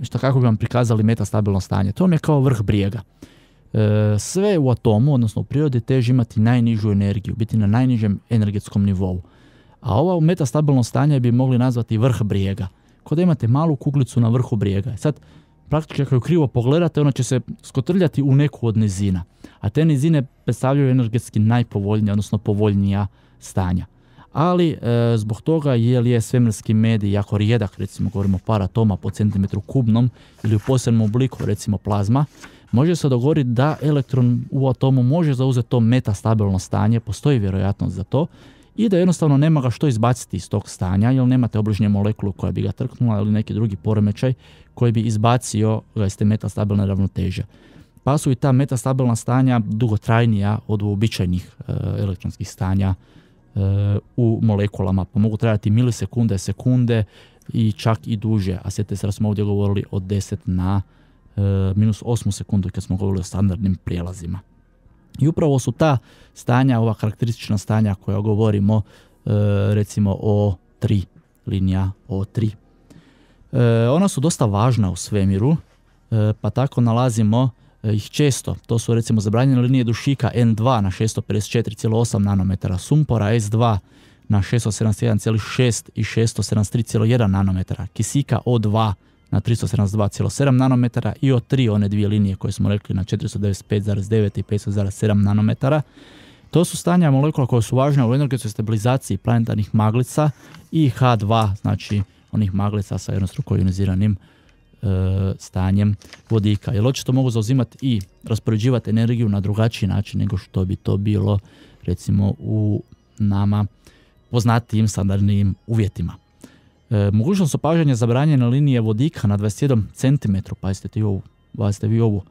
B: što kako bi vam prikazali metastabilno stanje, to je kao vrh brijega. E, sve u atomu, odnosno u prirodi, teži imati najnižu energiju, biti na najnižem energetskom nivou. A ovo metastabilno stanje bi mogli nazvati vrh brijega. Kao da imate malu kuglicu na vrhu brijega. Sad, praktički ako ju krivo pogledate, ona će se skotrljati u neku od nizina. A te nizine predstavljaju energetski najpovoljnije, odnosno povoljnija stanja. Ali e, zbog toga jer je svemirski medij jako rijedak, recimo govorimo par atoma po centimetru kubnom ili u posebnom obliku, recimo plazma, može se dogoditi da elektron u atomu može zauzeti to metastabilno stanje, postoji vjerojatnost za to, i da jednostavno nema ga što izbaciti iz tog stanja, jer nemate obližnje molekulu koja bi ga trknula ili neki drugi poremećaj koji bi izbacio ga iz te metastabilne ravnoteže. Pa su i ta metastabilna stanja dugotrajnija od uobičajenih e, elektronskih stanja e, u molekulama, pa mogu trajati milisekunde, sekunde i čak i duže. A sjetite se da smo ovdje govorili od deset na e, minus osmu sekundu kad smo govorili o standardnim prijelazima. I upravo su ta stanja, ova karakteristična stanja koja govorimo, e, recimo o tri, linija O tri. E, ona su dosta važna u svemiru, e, pa tako nalazimo e, ih često. To su recimo zabranjene linije dušika en dva na šesto pedeset četiri zarez osam nanometara, sumpora es dva na šesto sedamdeset jedan zarez šest i šesto sedamdeset tri zarez jedan nanometara, kisika O dva na tristo sedamdeset dva zarez sedam nanometara i O tri, one dvije linije koje smo rekli, na četiristo devedeset pet zarez devet i petsto zarez sedam nanometara. To su stanja molekula koje su važne u energetskoj stabilizaciji planetarnih maglica i ha dva, znači onih maglica sa jednostruko ioniziranim e, stanjem vodika. Jer očito mogu zauzimati i raspoređivati energiju na drugačiji način nego što bi to bilo recimo u nama poznatijim standardnim uvjetima. E, mogućnost opažanja zabranjene linije vodika na dvadeset jedan centimetra, pazite vi ovu, pazite vi ovu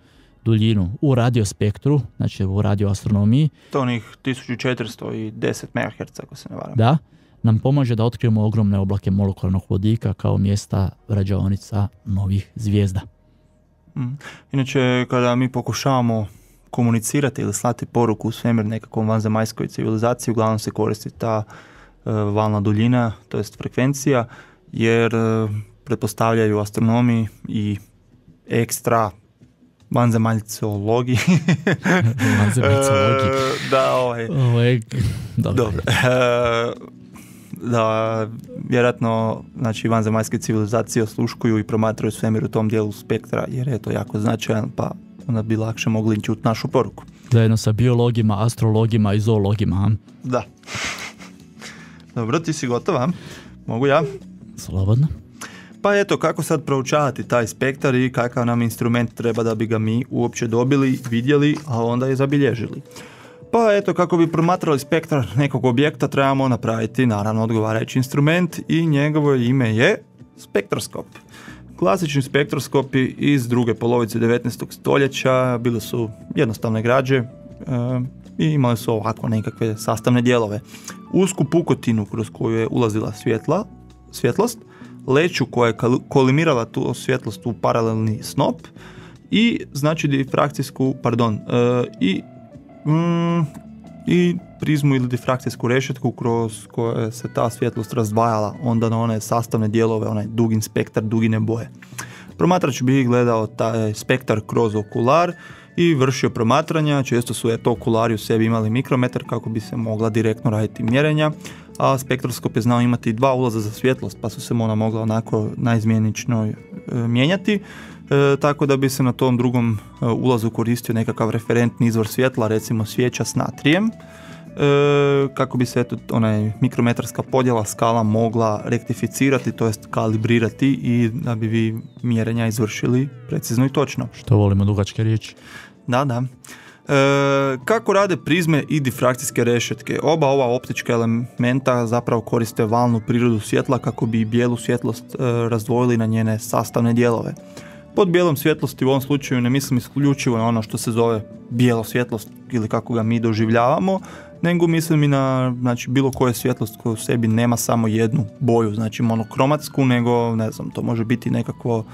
B: duljinu u radiospektru, znači u radioastronomiji.
C: To onih tisuću četiristo deset megaherca, ako se ne varam.
B: Da, nam pomaže da otkrijemo ogromne oblake molekularnog vodika kao mjesta rađaonica novih zvijezda.
C: Mm. Inače, kada mi pokušavamo komunicirati ili slati poruku u svemir nekakvom vanzemaljskoj civilizaciji, uglavnom se koristi ta uh, valna duljina, to jest frekvencija, jer uh, pretpostavljaju astronomi i ekstra vanzemaljcologi.
B: Vanzemaljcologi.
C: Da, ovaj...
B: Ovo je... Dobro.
C: Dobro. Da, vjerojatno, znači, vanzemaljske civilizacije osluškuju i promatraju svemir u tom dijelu spektra, jer je to jako značajan, pa onda bi lakše mogli čuti našu poruku.
B: Zajedno sa biologima, astrologima i zoologima.
C: Da. Dobro, ti si gotova? Mogu ja?
B: Slobodno.
C: Pa eto, kako sad proučavati taj spektar i kakav nam instrument treba da bi ga mi uopće dobili, vidjeli, a onda i zabilježili. Pa eto, kako bi promatrali spektar nekog objekta, trebamo napraviti naravno odgovarajući instrument i njegovo ime je spektroskop. Klasični spektroskopi iz druge polovice devetnaestog stoljeća bili su jednostavne građe e, i imali su ovako nekakve sastavne dijelove. Usku pukotinu kroz koju je ulazila svjetla, svjetlost, leću koja je kolimirala tu svjetlost u paralelni snop i znači difrakcijsku, pardon, e, i mm, i prizmu ili difrakcijsku rešetku kroz koje se ta svjetlost razdvajala onda na one sastavne dijelove, onaj dugin spektar, dugine boje. Promatrač bi gledao taj spektar kroz okular i vršio promatranja. Često su eto okulari u sebi imali mikrometar kako bi se mogla direktno raditi mjerenja, a spektroskop je znao imati dva ulaza za svjetlost, pa su se ona mogla onako naizmjenično e, mijenjati. E, tako da bi se na tom drugom e, ulazu koristio nekakav referentni izvor svjetla, recimo svijeća s natrijem, e, kako bi se eto, onaj mikrometarska podjela skala mogla rektificirati, to jest kalibrirati i da bi vi mjerenja izvršili precizno i točno.
B: Što volimo dugačke riječi.
C: Da, da. E, kako rade prizme i difrakcijske rešetke? Oba ova optička elementa zapravo koriste valnu prirodu svjetla kako bi bijelu svjetlost e, razdvojili na njene sastavne dijelove. Pod bijelom svjetlosti u ovom slučaju ne mislim isključivo na ono što se zove bijelo svjetlost ili kako ga mi doživljavamo, nego mislim i na znači, bilo koje svjetlost koja u sebi nema samo jednu boju, znači monokromatsku, nego ne znam, to može biti nekakvo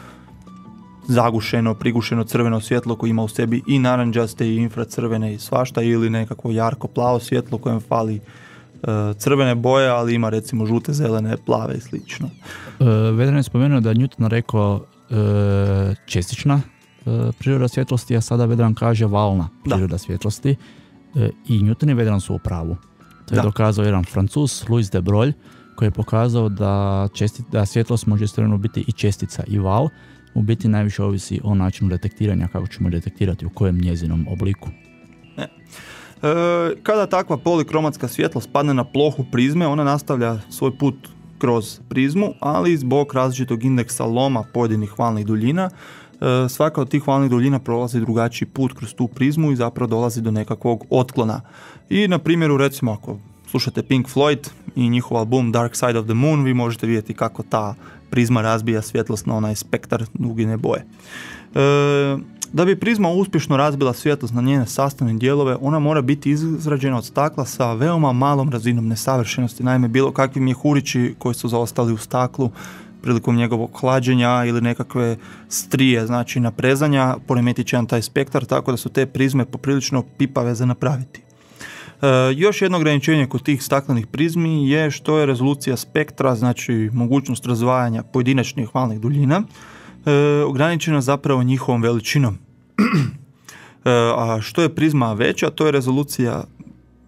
C: zagušeno, prigušeno crveno svjetlo koje ima u sebi i naranđaste i infracrvene i svašta, ili nekakvo jarko plavo svjetlo kojem fali uh, crvene boje, ali ima recimo žute, zelene, plave i slično.
B: Uh, Vedran je spomenuo da je Newton rekao uh, čestična uh, priroda svjetlosti, a sada Vedran kaže valna priroda da. svjetlosti. Uh, I Newton i Vedran su u pravu. To je da. dokazao jedan Francuz, Louis de Broglie, koji je pokazao da, česti, da svjetlost može istovremeno biti i čestica i val. U biti najviše ovisi o načinu detektiranja, kako ćemo detektirati u kojem njezinom obliku.
C: E. E, kada takva polikromatska svjetlost padne na plohu prizme, ona nastavlja svoj put kroz prizmu, ali zbog različitog indeksa loma pojedinih valnih duljina, e, svaka od tih valnih duljina prolazi drugačiji put kroz tu prizmu i zapravo dolazi do nekakvog otklona. I na primjeru, recimo, ako slušate Pink Floyd i njihov album Dark Side of the Moon, vi možete vidjeti kako ta prizma razbija svjetlost na onaj spektar dugine boje. E, da bi prizma uspješno razbila svjetlost na njene sastavne dijelove, ona mora biti izrađena od stakla sa veoma malom razinom nesavršenosti. Naime, bilo kakvi mjehurići koji su zaostali u staklu prilikom njegovog hlađenja ili nekakve strije, znači naprezanja, poremetit će nam taj spektar, tako da su te prizme poprilično pipave za napraviti. E, još jedno ograničenje kod tih staklenih prizmi je što je rezolucija spektra, znači mogućnost razdvajanja pojedinačnih valnih duljina, e, ograničena zapravo njihovom veličinom. e, a što je prizma veća, to je rezolucija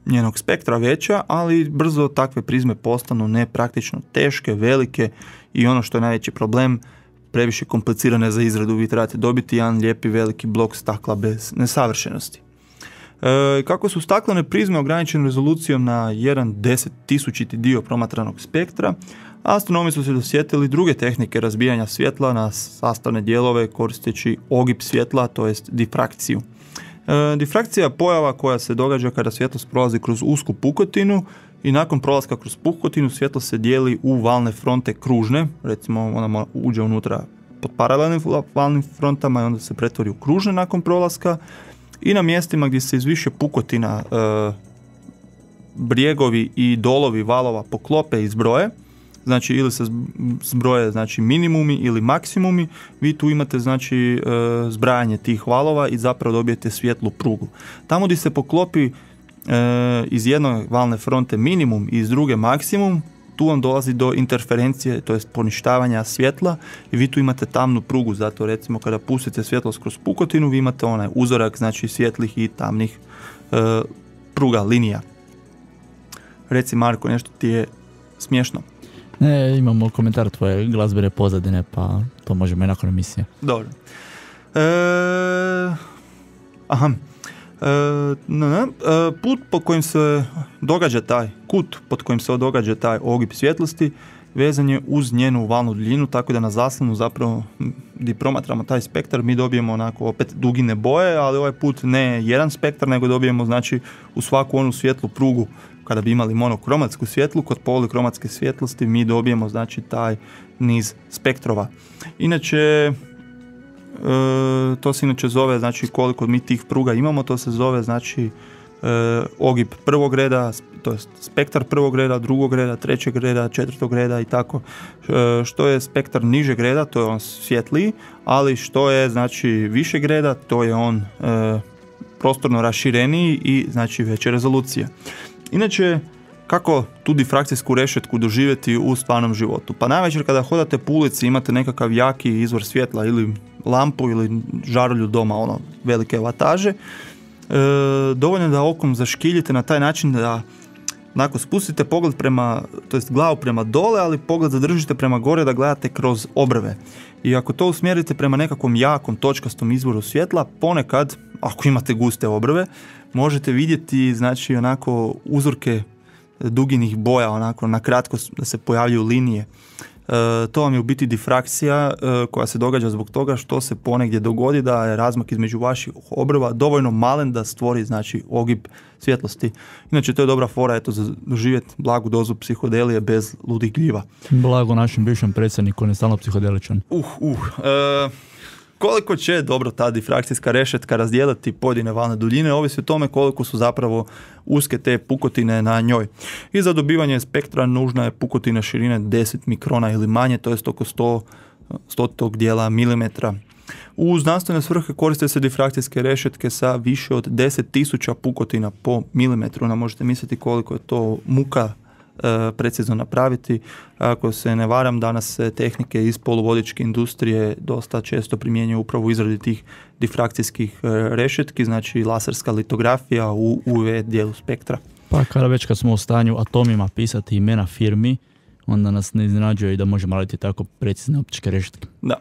C: njenog spektra veća, ali brzo takve prizme postanu nepraktično teške, velike i ono što je najveći problem, previše komplicirane za izradu. Vi trebate dobiti jedan lijepi veliki blok stakla bez nesavršenosti. E, kako su staklene prizme ograničene rezolucijom na jedan deset tisućiti dio promatranog spektra, astronomi su se dosjetili druge tehnike razbijanja svjetla na sastavne dijelove koristeći ogib svjetla, to jest difrakciju. E, difrakcija je pojava koja se događa kada svjetlost prolazi kroz usku pukotinu i nakon prolaska kroz pukotinu svjetlo se dijeli u valne fronte kružne, recimo ona uđe unutra pod paralelnim valnim frontama i onda se pretvori u kružne nakon prolaska. I na mjestima gdje se iz više pukotina e, brijegovi i dolovi valova poklope i zbroje, znači ili se zbroje znači minimumi ili maksimumi, vi tu imate znači e, zbrajanje tih valova i zapravo dobijete svjetlu prugu. Tamo gdje se poklopi e, iz jedne valne fronte minimum i iz druge maksimum, tu vam dolazi do interferencije, to jest poništavanja svjetla i vi tu imate tamnu prugu, zato recimo kada pustite svjetlost kroz pukotinu, vi imate onaj uzorak, znači svjetlih i tamnih e, pruga, linija. Reci Marko, nešto ti je smiješno?
B: Ne, imamo komentar tvoje glazbene pozadine, pa to možemo i nakon emisije.
C: Dobro. E, aha. E, ne, ne. E, put po kojim se događa taj kut pod kojim se događa taj ogib svjetlosti vezan je uz njenu valnu duljinu, tako da na zaslonu zapravo gdje promatramo taj spektar mi dobijemo onako opet dugine boje, ali ovaj put ne jedan spektar, nego dobijemo znači u svaku onu svjetlu prugu. Kada bi imali monokromatsku svjetlu, kod polikromatske svjetlosti mi dobijemo znači taj niz spektrova. Inače e, to se inače zove, znači koliko mi tih pruga imamo, to se zove znači e, ogib prvog reda, to je spektar prvog reda, drugog reda, trećeg reda, četvrtog reda i tako. E, što je spektar nižeg reda, to je on svjetliji, ali što je znači višeg reda, to je on e, prostorno rašireniji i znači veća rezolucija. Inače, kako tu difrakcijsku rešetku doživjeti u stvarnom životu? Pa navečer kada hodate po ulici imate nekakav jaki izvor svjetla ili lampu ili žarulju doma, ono, velike vataže, e, dovoljno da okom zaškiljite na taj način da Onako, spustite pogled prema, to jest glavu prema dole, ali pogled zadržite prema gore da gledate kroz obrve. I ako to usmjerite prema nekakvom jakom točkastom izvoru svjetla, ponekad, ako imate guste obrve, možete vidjeti, znači, onako uzorke duginih boja, onako na kratko da se pojavljuju linije. E, to vam je u biti difrakcija e, koja se događa zbog toga što se ponegdje dogodi da je razmak između vaših obrva dovoljno malen da stvori, znači, ogib svjetlosti. Inače, to je dobra fora, eto, za doživjeti blagu dozu psihodelije bez ludih gljiva.
B: Blago našem bivšem predsjedniku, on je stalno psihodeličan.
C: Uh, uh, e, koliko će dobro ta difrakcijska rešetka razdijeliti pojedine valne duljine, ovisi o tome koliko su zapravo uske te pukotine na njoj. I za dobivanje spektra nužna je pukotina širine deset mikrona ili manje, to je oko sto stotog dijela milimetra. U znanstvene svrhe koriste se difrakcijske rešetke sa više od deset tisuća pukotina po milimetru. No, možete misliti koliko je to muka e, precizno napraviti. Ako se ne varam, danas se tehnike iz poluvodičke industrije dosta često primjenjuju upravo u izradi tih difrakcijskih e, rešetki, znači laserska litografija u U V dijelu spektra.
B: Pa kada već kad smo u stanju atomima pisati imena firmi, onda nas ne iznenađuje i da možemo raditi tako precizne optičke rešetke.
C: Da.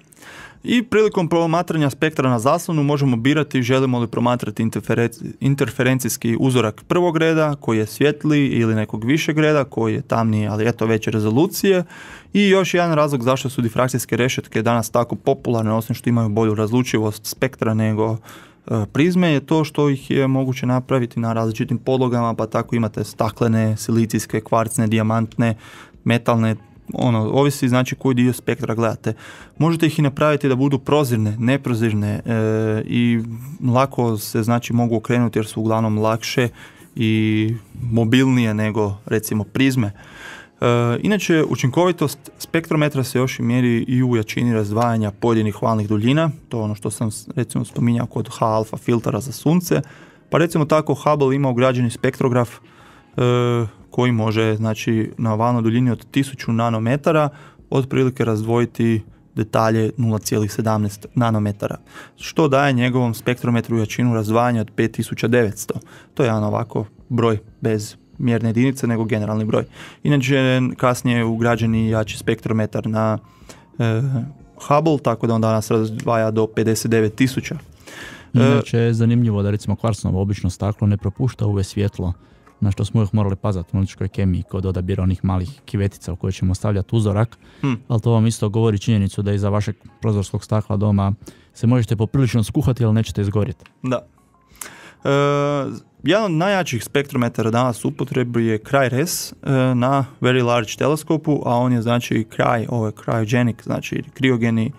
C: I prilikom promatranja spektra na zaslonu možemo birati želimo li promatrati interferenci, interferencijski uzorak prvog reda koji je svjetliji ili nekog višeg reda koji je tamniji, ali eto veće rezolucije. I još jedan razlog zašto su difrakcijske rešetke danas tako popularne, osim što imaju bolju razlučivost spektra nego e, prizme, je to što ih je moguće napraviti na različitim podlogama, pa tako imate staklene, silicijske, kvarcne, dijamantne, metalne, ono, ovisi znači koji dio spektra gledate. Možete ih i napraviti da budu prozirne, neprozirne e, i lako se znači mogu okrenuti jer su uglavnom lakše i mobilnije nego recimo prizme. E, inače, učinkovitost spektrometra se još i mjeri i u jačini razdvajanja pojedinih valnih duljina, to je ono što sam recimo spominjao kod H-alfa filtera za sunce, pa recimo tako Hubble ima ugrađeni spektrograf e, koji može, znači, na valnoj duljini od tisuću nanometara otprilike razdvojiti detalje nula zarez sedamnaest nanometara, što daje njegovom spektrometru jačinu razdvajanja od pet tisuća devetsto. To je jedan ovako broj bez mjerne jedinice, nego generalni broj. Inače, kasnije je ugrađeni jači spektrometar na e, Hubble, tako da on danas razdvaja do pedeset devet tisuća.
B: Inače je zanimljivo da recimo kvarcnovo obično staklo ne propušta U V svjetlo, na što smo uvijek morali pazati u analitičkoj kemiji kod odabira onih malih kivetica u koje ćemo stavljati uzorak, hmm. ali to vam isto govori činjenicu da iza vašeg prozorskog stakla doma se možete poprilično skuhati, ali nećete izgorjeti. Da.
C: E, jedan od najjačih spektrometara danas u upotrebi je CRY-RES e, na Very Large teleskopu, a on je znači cry, ovo je cryogenic, znači kriogeni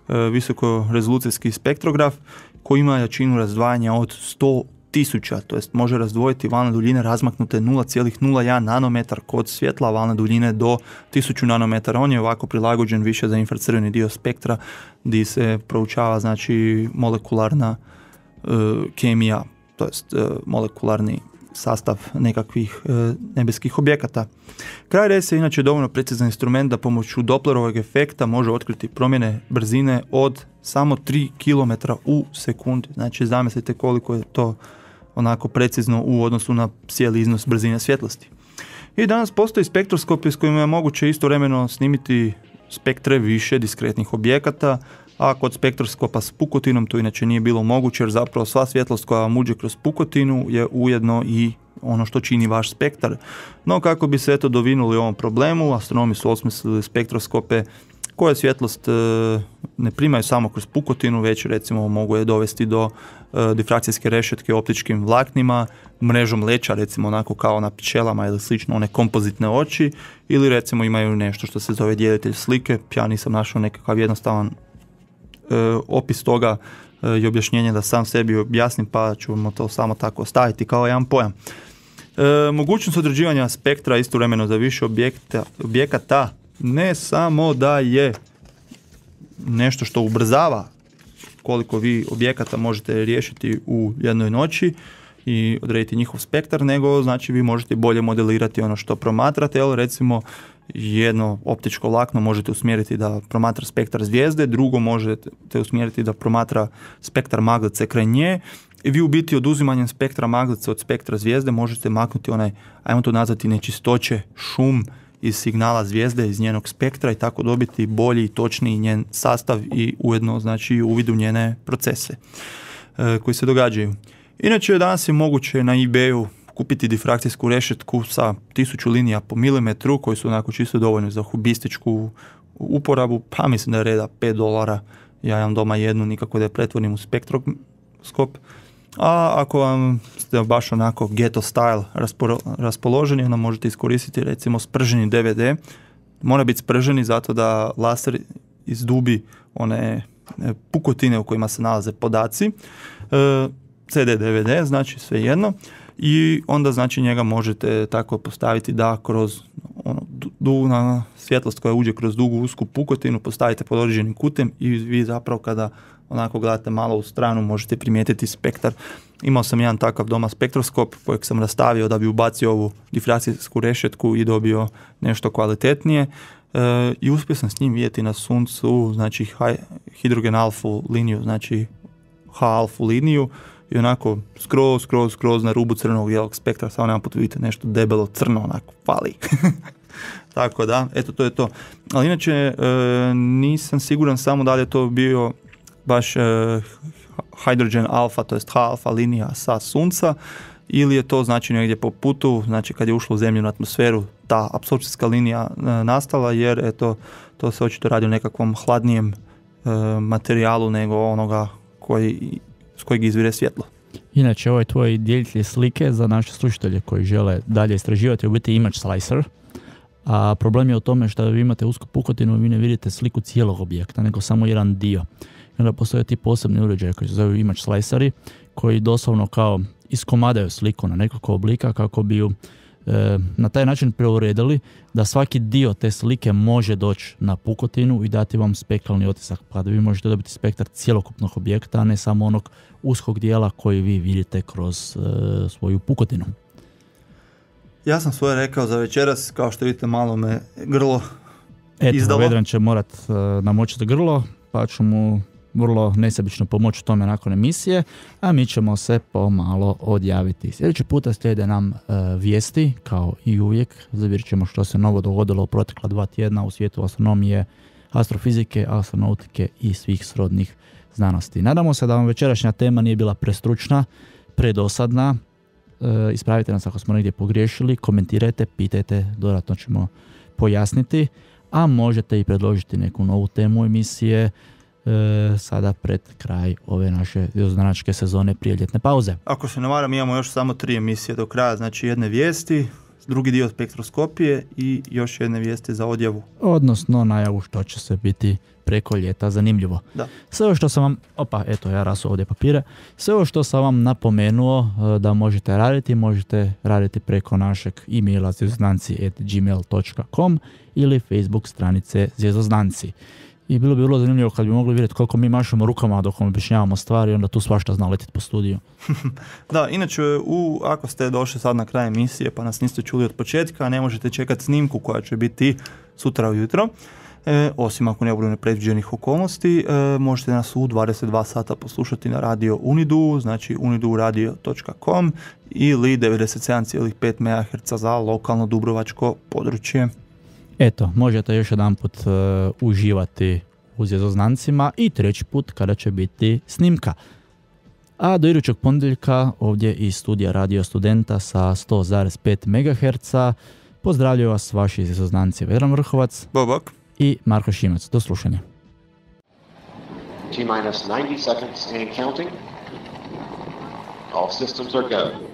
C: e, visokorezolucijski spektrograf koji ima jačinu razdvajanja od sto tisuća, to jest može razdvojiti valne duljine razmaknute nula zarez nula jedan nanometar kod svjetla, valne duljine do tisuću nanometara. On je ovako prilagođen više za infracrveni dio spektra gdje se proučava znači molekularna uh, kemija, to jest uh, molekularni sastav nekakvih uh, nebeskih objekata. CRY-RES je inače dovoljno precizan instrument da pomoću Dopplerovog efekta može otkriti promjene brzine od samo tri kilometra u sekundi. Znači zamislite koliko je to onako precizno u odnosu na cijeli iznos brzine svjetlosti. I danas postoji spektroskopi s kojima je moguće istovremeno snimiti spektre više diskretnih objekata, a kod spektroskopa s pukotinom to inače nije bilo moguće jer zapravo sva svjetlost koja vam uđe kroz pukotinu je ujedno i ono što čini vaš spektar. No kako bi se eto dovinuli ovom problemu, astronomi su osmislili spektroskope koje svjetlost e, ne primaju samo kroz pukotinu, već recimo mogu je dovesti do e, difrakcijske rešetke optičkim vlaknima, mrežom leća, recimo onako kao na pčelama ili slično, one kompozitne oči, ili recimo imaju nešto što se zove djelitelj slike. Ja nisam našao nekakav jednostavan e, opis toga e, i objašnjenje da sam sebi objasnim, pa ćemo to samo tako staviti kao jedan pojam. E, mogućnost određivanja spektra istovremeno za više objekta, objekata ne samo da je nešto što ubrzava koliko vi objekata možete riješiti u jednoj noći i odrediti njihov spektar, nego znači vi možete bolje modelirati ono što promatrate, ali recimo jedno optičko vlakno možete usmjeriti da promatra spektar zvijezde, drugo možete usmjeriti da promatra spektar maglice kraj nje i vi u biti oduzimanjem spektra maglice od spektra zvijezde možete maknuti onaj, ajmo to nazvati, nečistoće, šum iz signala zvijezde, iz njenog spektra i tako dobiti bolji i točniji njen sastav i ujedno znači uvid u njene procese e, koji se događaju. Inače, danas je moguće na eBayu kupiti difrakcijsku rešetku sa tisuću linija po milimetru koji su onako čisto dovoljni za hobističku uporabu, pa mislim da je reda pet dolara. Ja imam doma jednu, nikako da je pretvorim u spektroskop. A ako vam ste baš onako ghetto style raspoloženi, onda možete iskoristiti recimo sprženi D V D. Mora biti sprženi zato da laser izdubi one pukotine u kojima se nalaze podaci. C D, D V D, znači sve jedno. I onda znači njega možete tako postaviti da kroz ono, du, na svjetlost koja uđe kroz dugu usku pukotinu postavite pod određenim kutem i vi zapravo kada onako gledate malo u stranu možete primijetiti spektar. Imao sam jedan takav doma spektroskop kojeg sam rastavio da bi ubacio ovu difrakcijsku rešetku i dobio nešto kvalitetnije. E, I uspio sam s njim vidjeti na suncu znači hidrogen alfu liniju, znači H alfu liniju i onako skroz, skroz, skroz na rubu crvenog bijelog spektra, samo jedan put vidite nešto debelo crno, onako fali. Tako da, eto to je to. Ali inače e, nisam siguran samo da li je to bio baš e, hydrogen alfa, to jest H alfa linija sa sunca, ili je to znači negdje po putu, znači kad je ušlo u zemljenu atmosferu, ta apsorpcijska linija e, nastala, jer eto, to se očito radi o nekakvom hladnijem e, materijalu nego onoga koji, s kojeg izvire svjetlo.
B: Inače, ovaj tvoj dijelitelj slike za naše slušatelje koji žele dalje istraživati je u biti image slicer, a problem je u tome što vi imate usku pukotinu i vi ne vidite sliku cijelog objekta, nego samo jedan dio. I onda postoje ti posebni uređaji koji se zove image sliceri, koji doslovno kao iskomadaju sliku na nekoliko oblika kako bi ju e, na taj način preuredili da svaki dio te slike može doći na pukotinu i dati vam spektralni otisak, pa da vi možete dobiti spektar cjelokupnog objekta, a ne samo onog uskog dijela koji vi vidite kroz e, svoju pukotinu.
C: Ja sam svoje rekao za večeras, kao što vidite malo me grlo
B: Eto,
C: izdalo.
B: Vedran će morat uh, namočiti grlo, pa ću mu vrlo nesebično pomoći tome nakon emisije, a mi ćemo se pomalo odjaviti. Sljedeći puta slijede nam uh, vijesti, kao i uvijek, zavirit ćemo što se novo dogodilo u protekla dva tjedna u svijetu astronomije, astrofizike, astronautike i svih srodnih znanosti. Nadamo se da vam večerašnja tema nije bila prestručna, predosadna. E, ispravite nas ako smo negdje pogriješili, komentirajte, pitajte, dodatno ćemo pojasniti, a možete i predložiti neku novu temu emisije e, sada pred kraj ove naše zvjerozanačke sezone prije ljetne pauze.
C: Ako se ne varam, imamo još samo tri emisije do kraja, znači jedne vijesti, drugi dio spektroskopije i još jedne vijesti za odjavu.
B: Odnosno najavu što će se biti preko ljeta zanimljivo. Da. Sve ovo što sam vam, opa, eto ja rasu ovdje papire, sve ovo što sam vam napomenuo da možete raditi, možete raditi preko našeg e-maila zvjerozanci at gmail dot com ili Facebook stranice Zvjerozanci. I bilo bi vrlo zanimljivo kad bi mogli vidjeti koliko mi mašemo rukama dok vam objašnjavamo stvari, onda tu svašta zna letiti po studiju.
C: Da, inače, u, ako ste došli sad na kraj emisije pa nas niste čuli od početka, ne možete čekati snimku koja će biti sutra ujutro. E, osim ako ne bude nepredviđenih okolnosti, e, možete nas u dvadeset dva sata poslušati na radio Unidu, znači unidu radio dot com ili devedeset sedam zarez pet megaherca za lokalno dubrovačko područje.
B: Eto, možete još jedan put uh, uživati u Zvjeroznancima i treći put kada će biti snimka. A do idućeg ponedjeljka ovdje iz studija Radio Studenta sa sto zarez pet megaherca pozdravljaju vas vaši Zvjeroznanci Vedran Vrhovac
C: Bobak
B: i Marko Šimac. Do slušanja.
A: T minus ninety seconds and counting. All systems are go.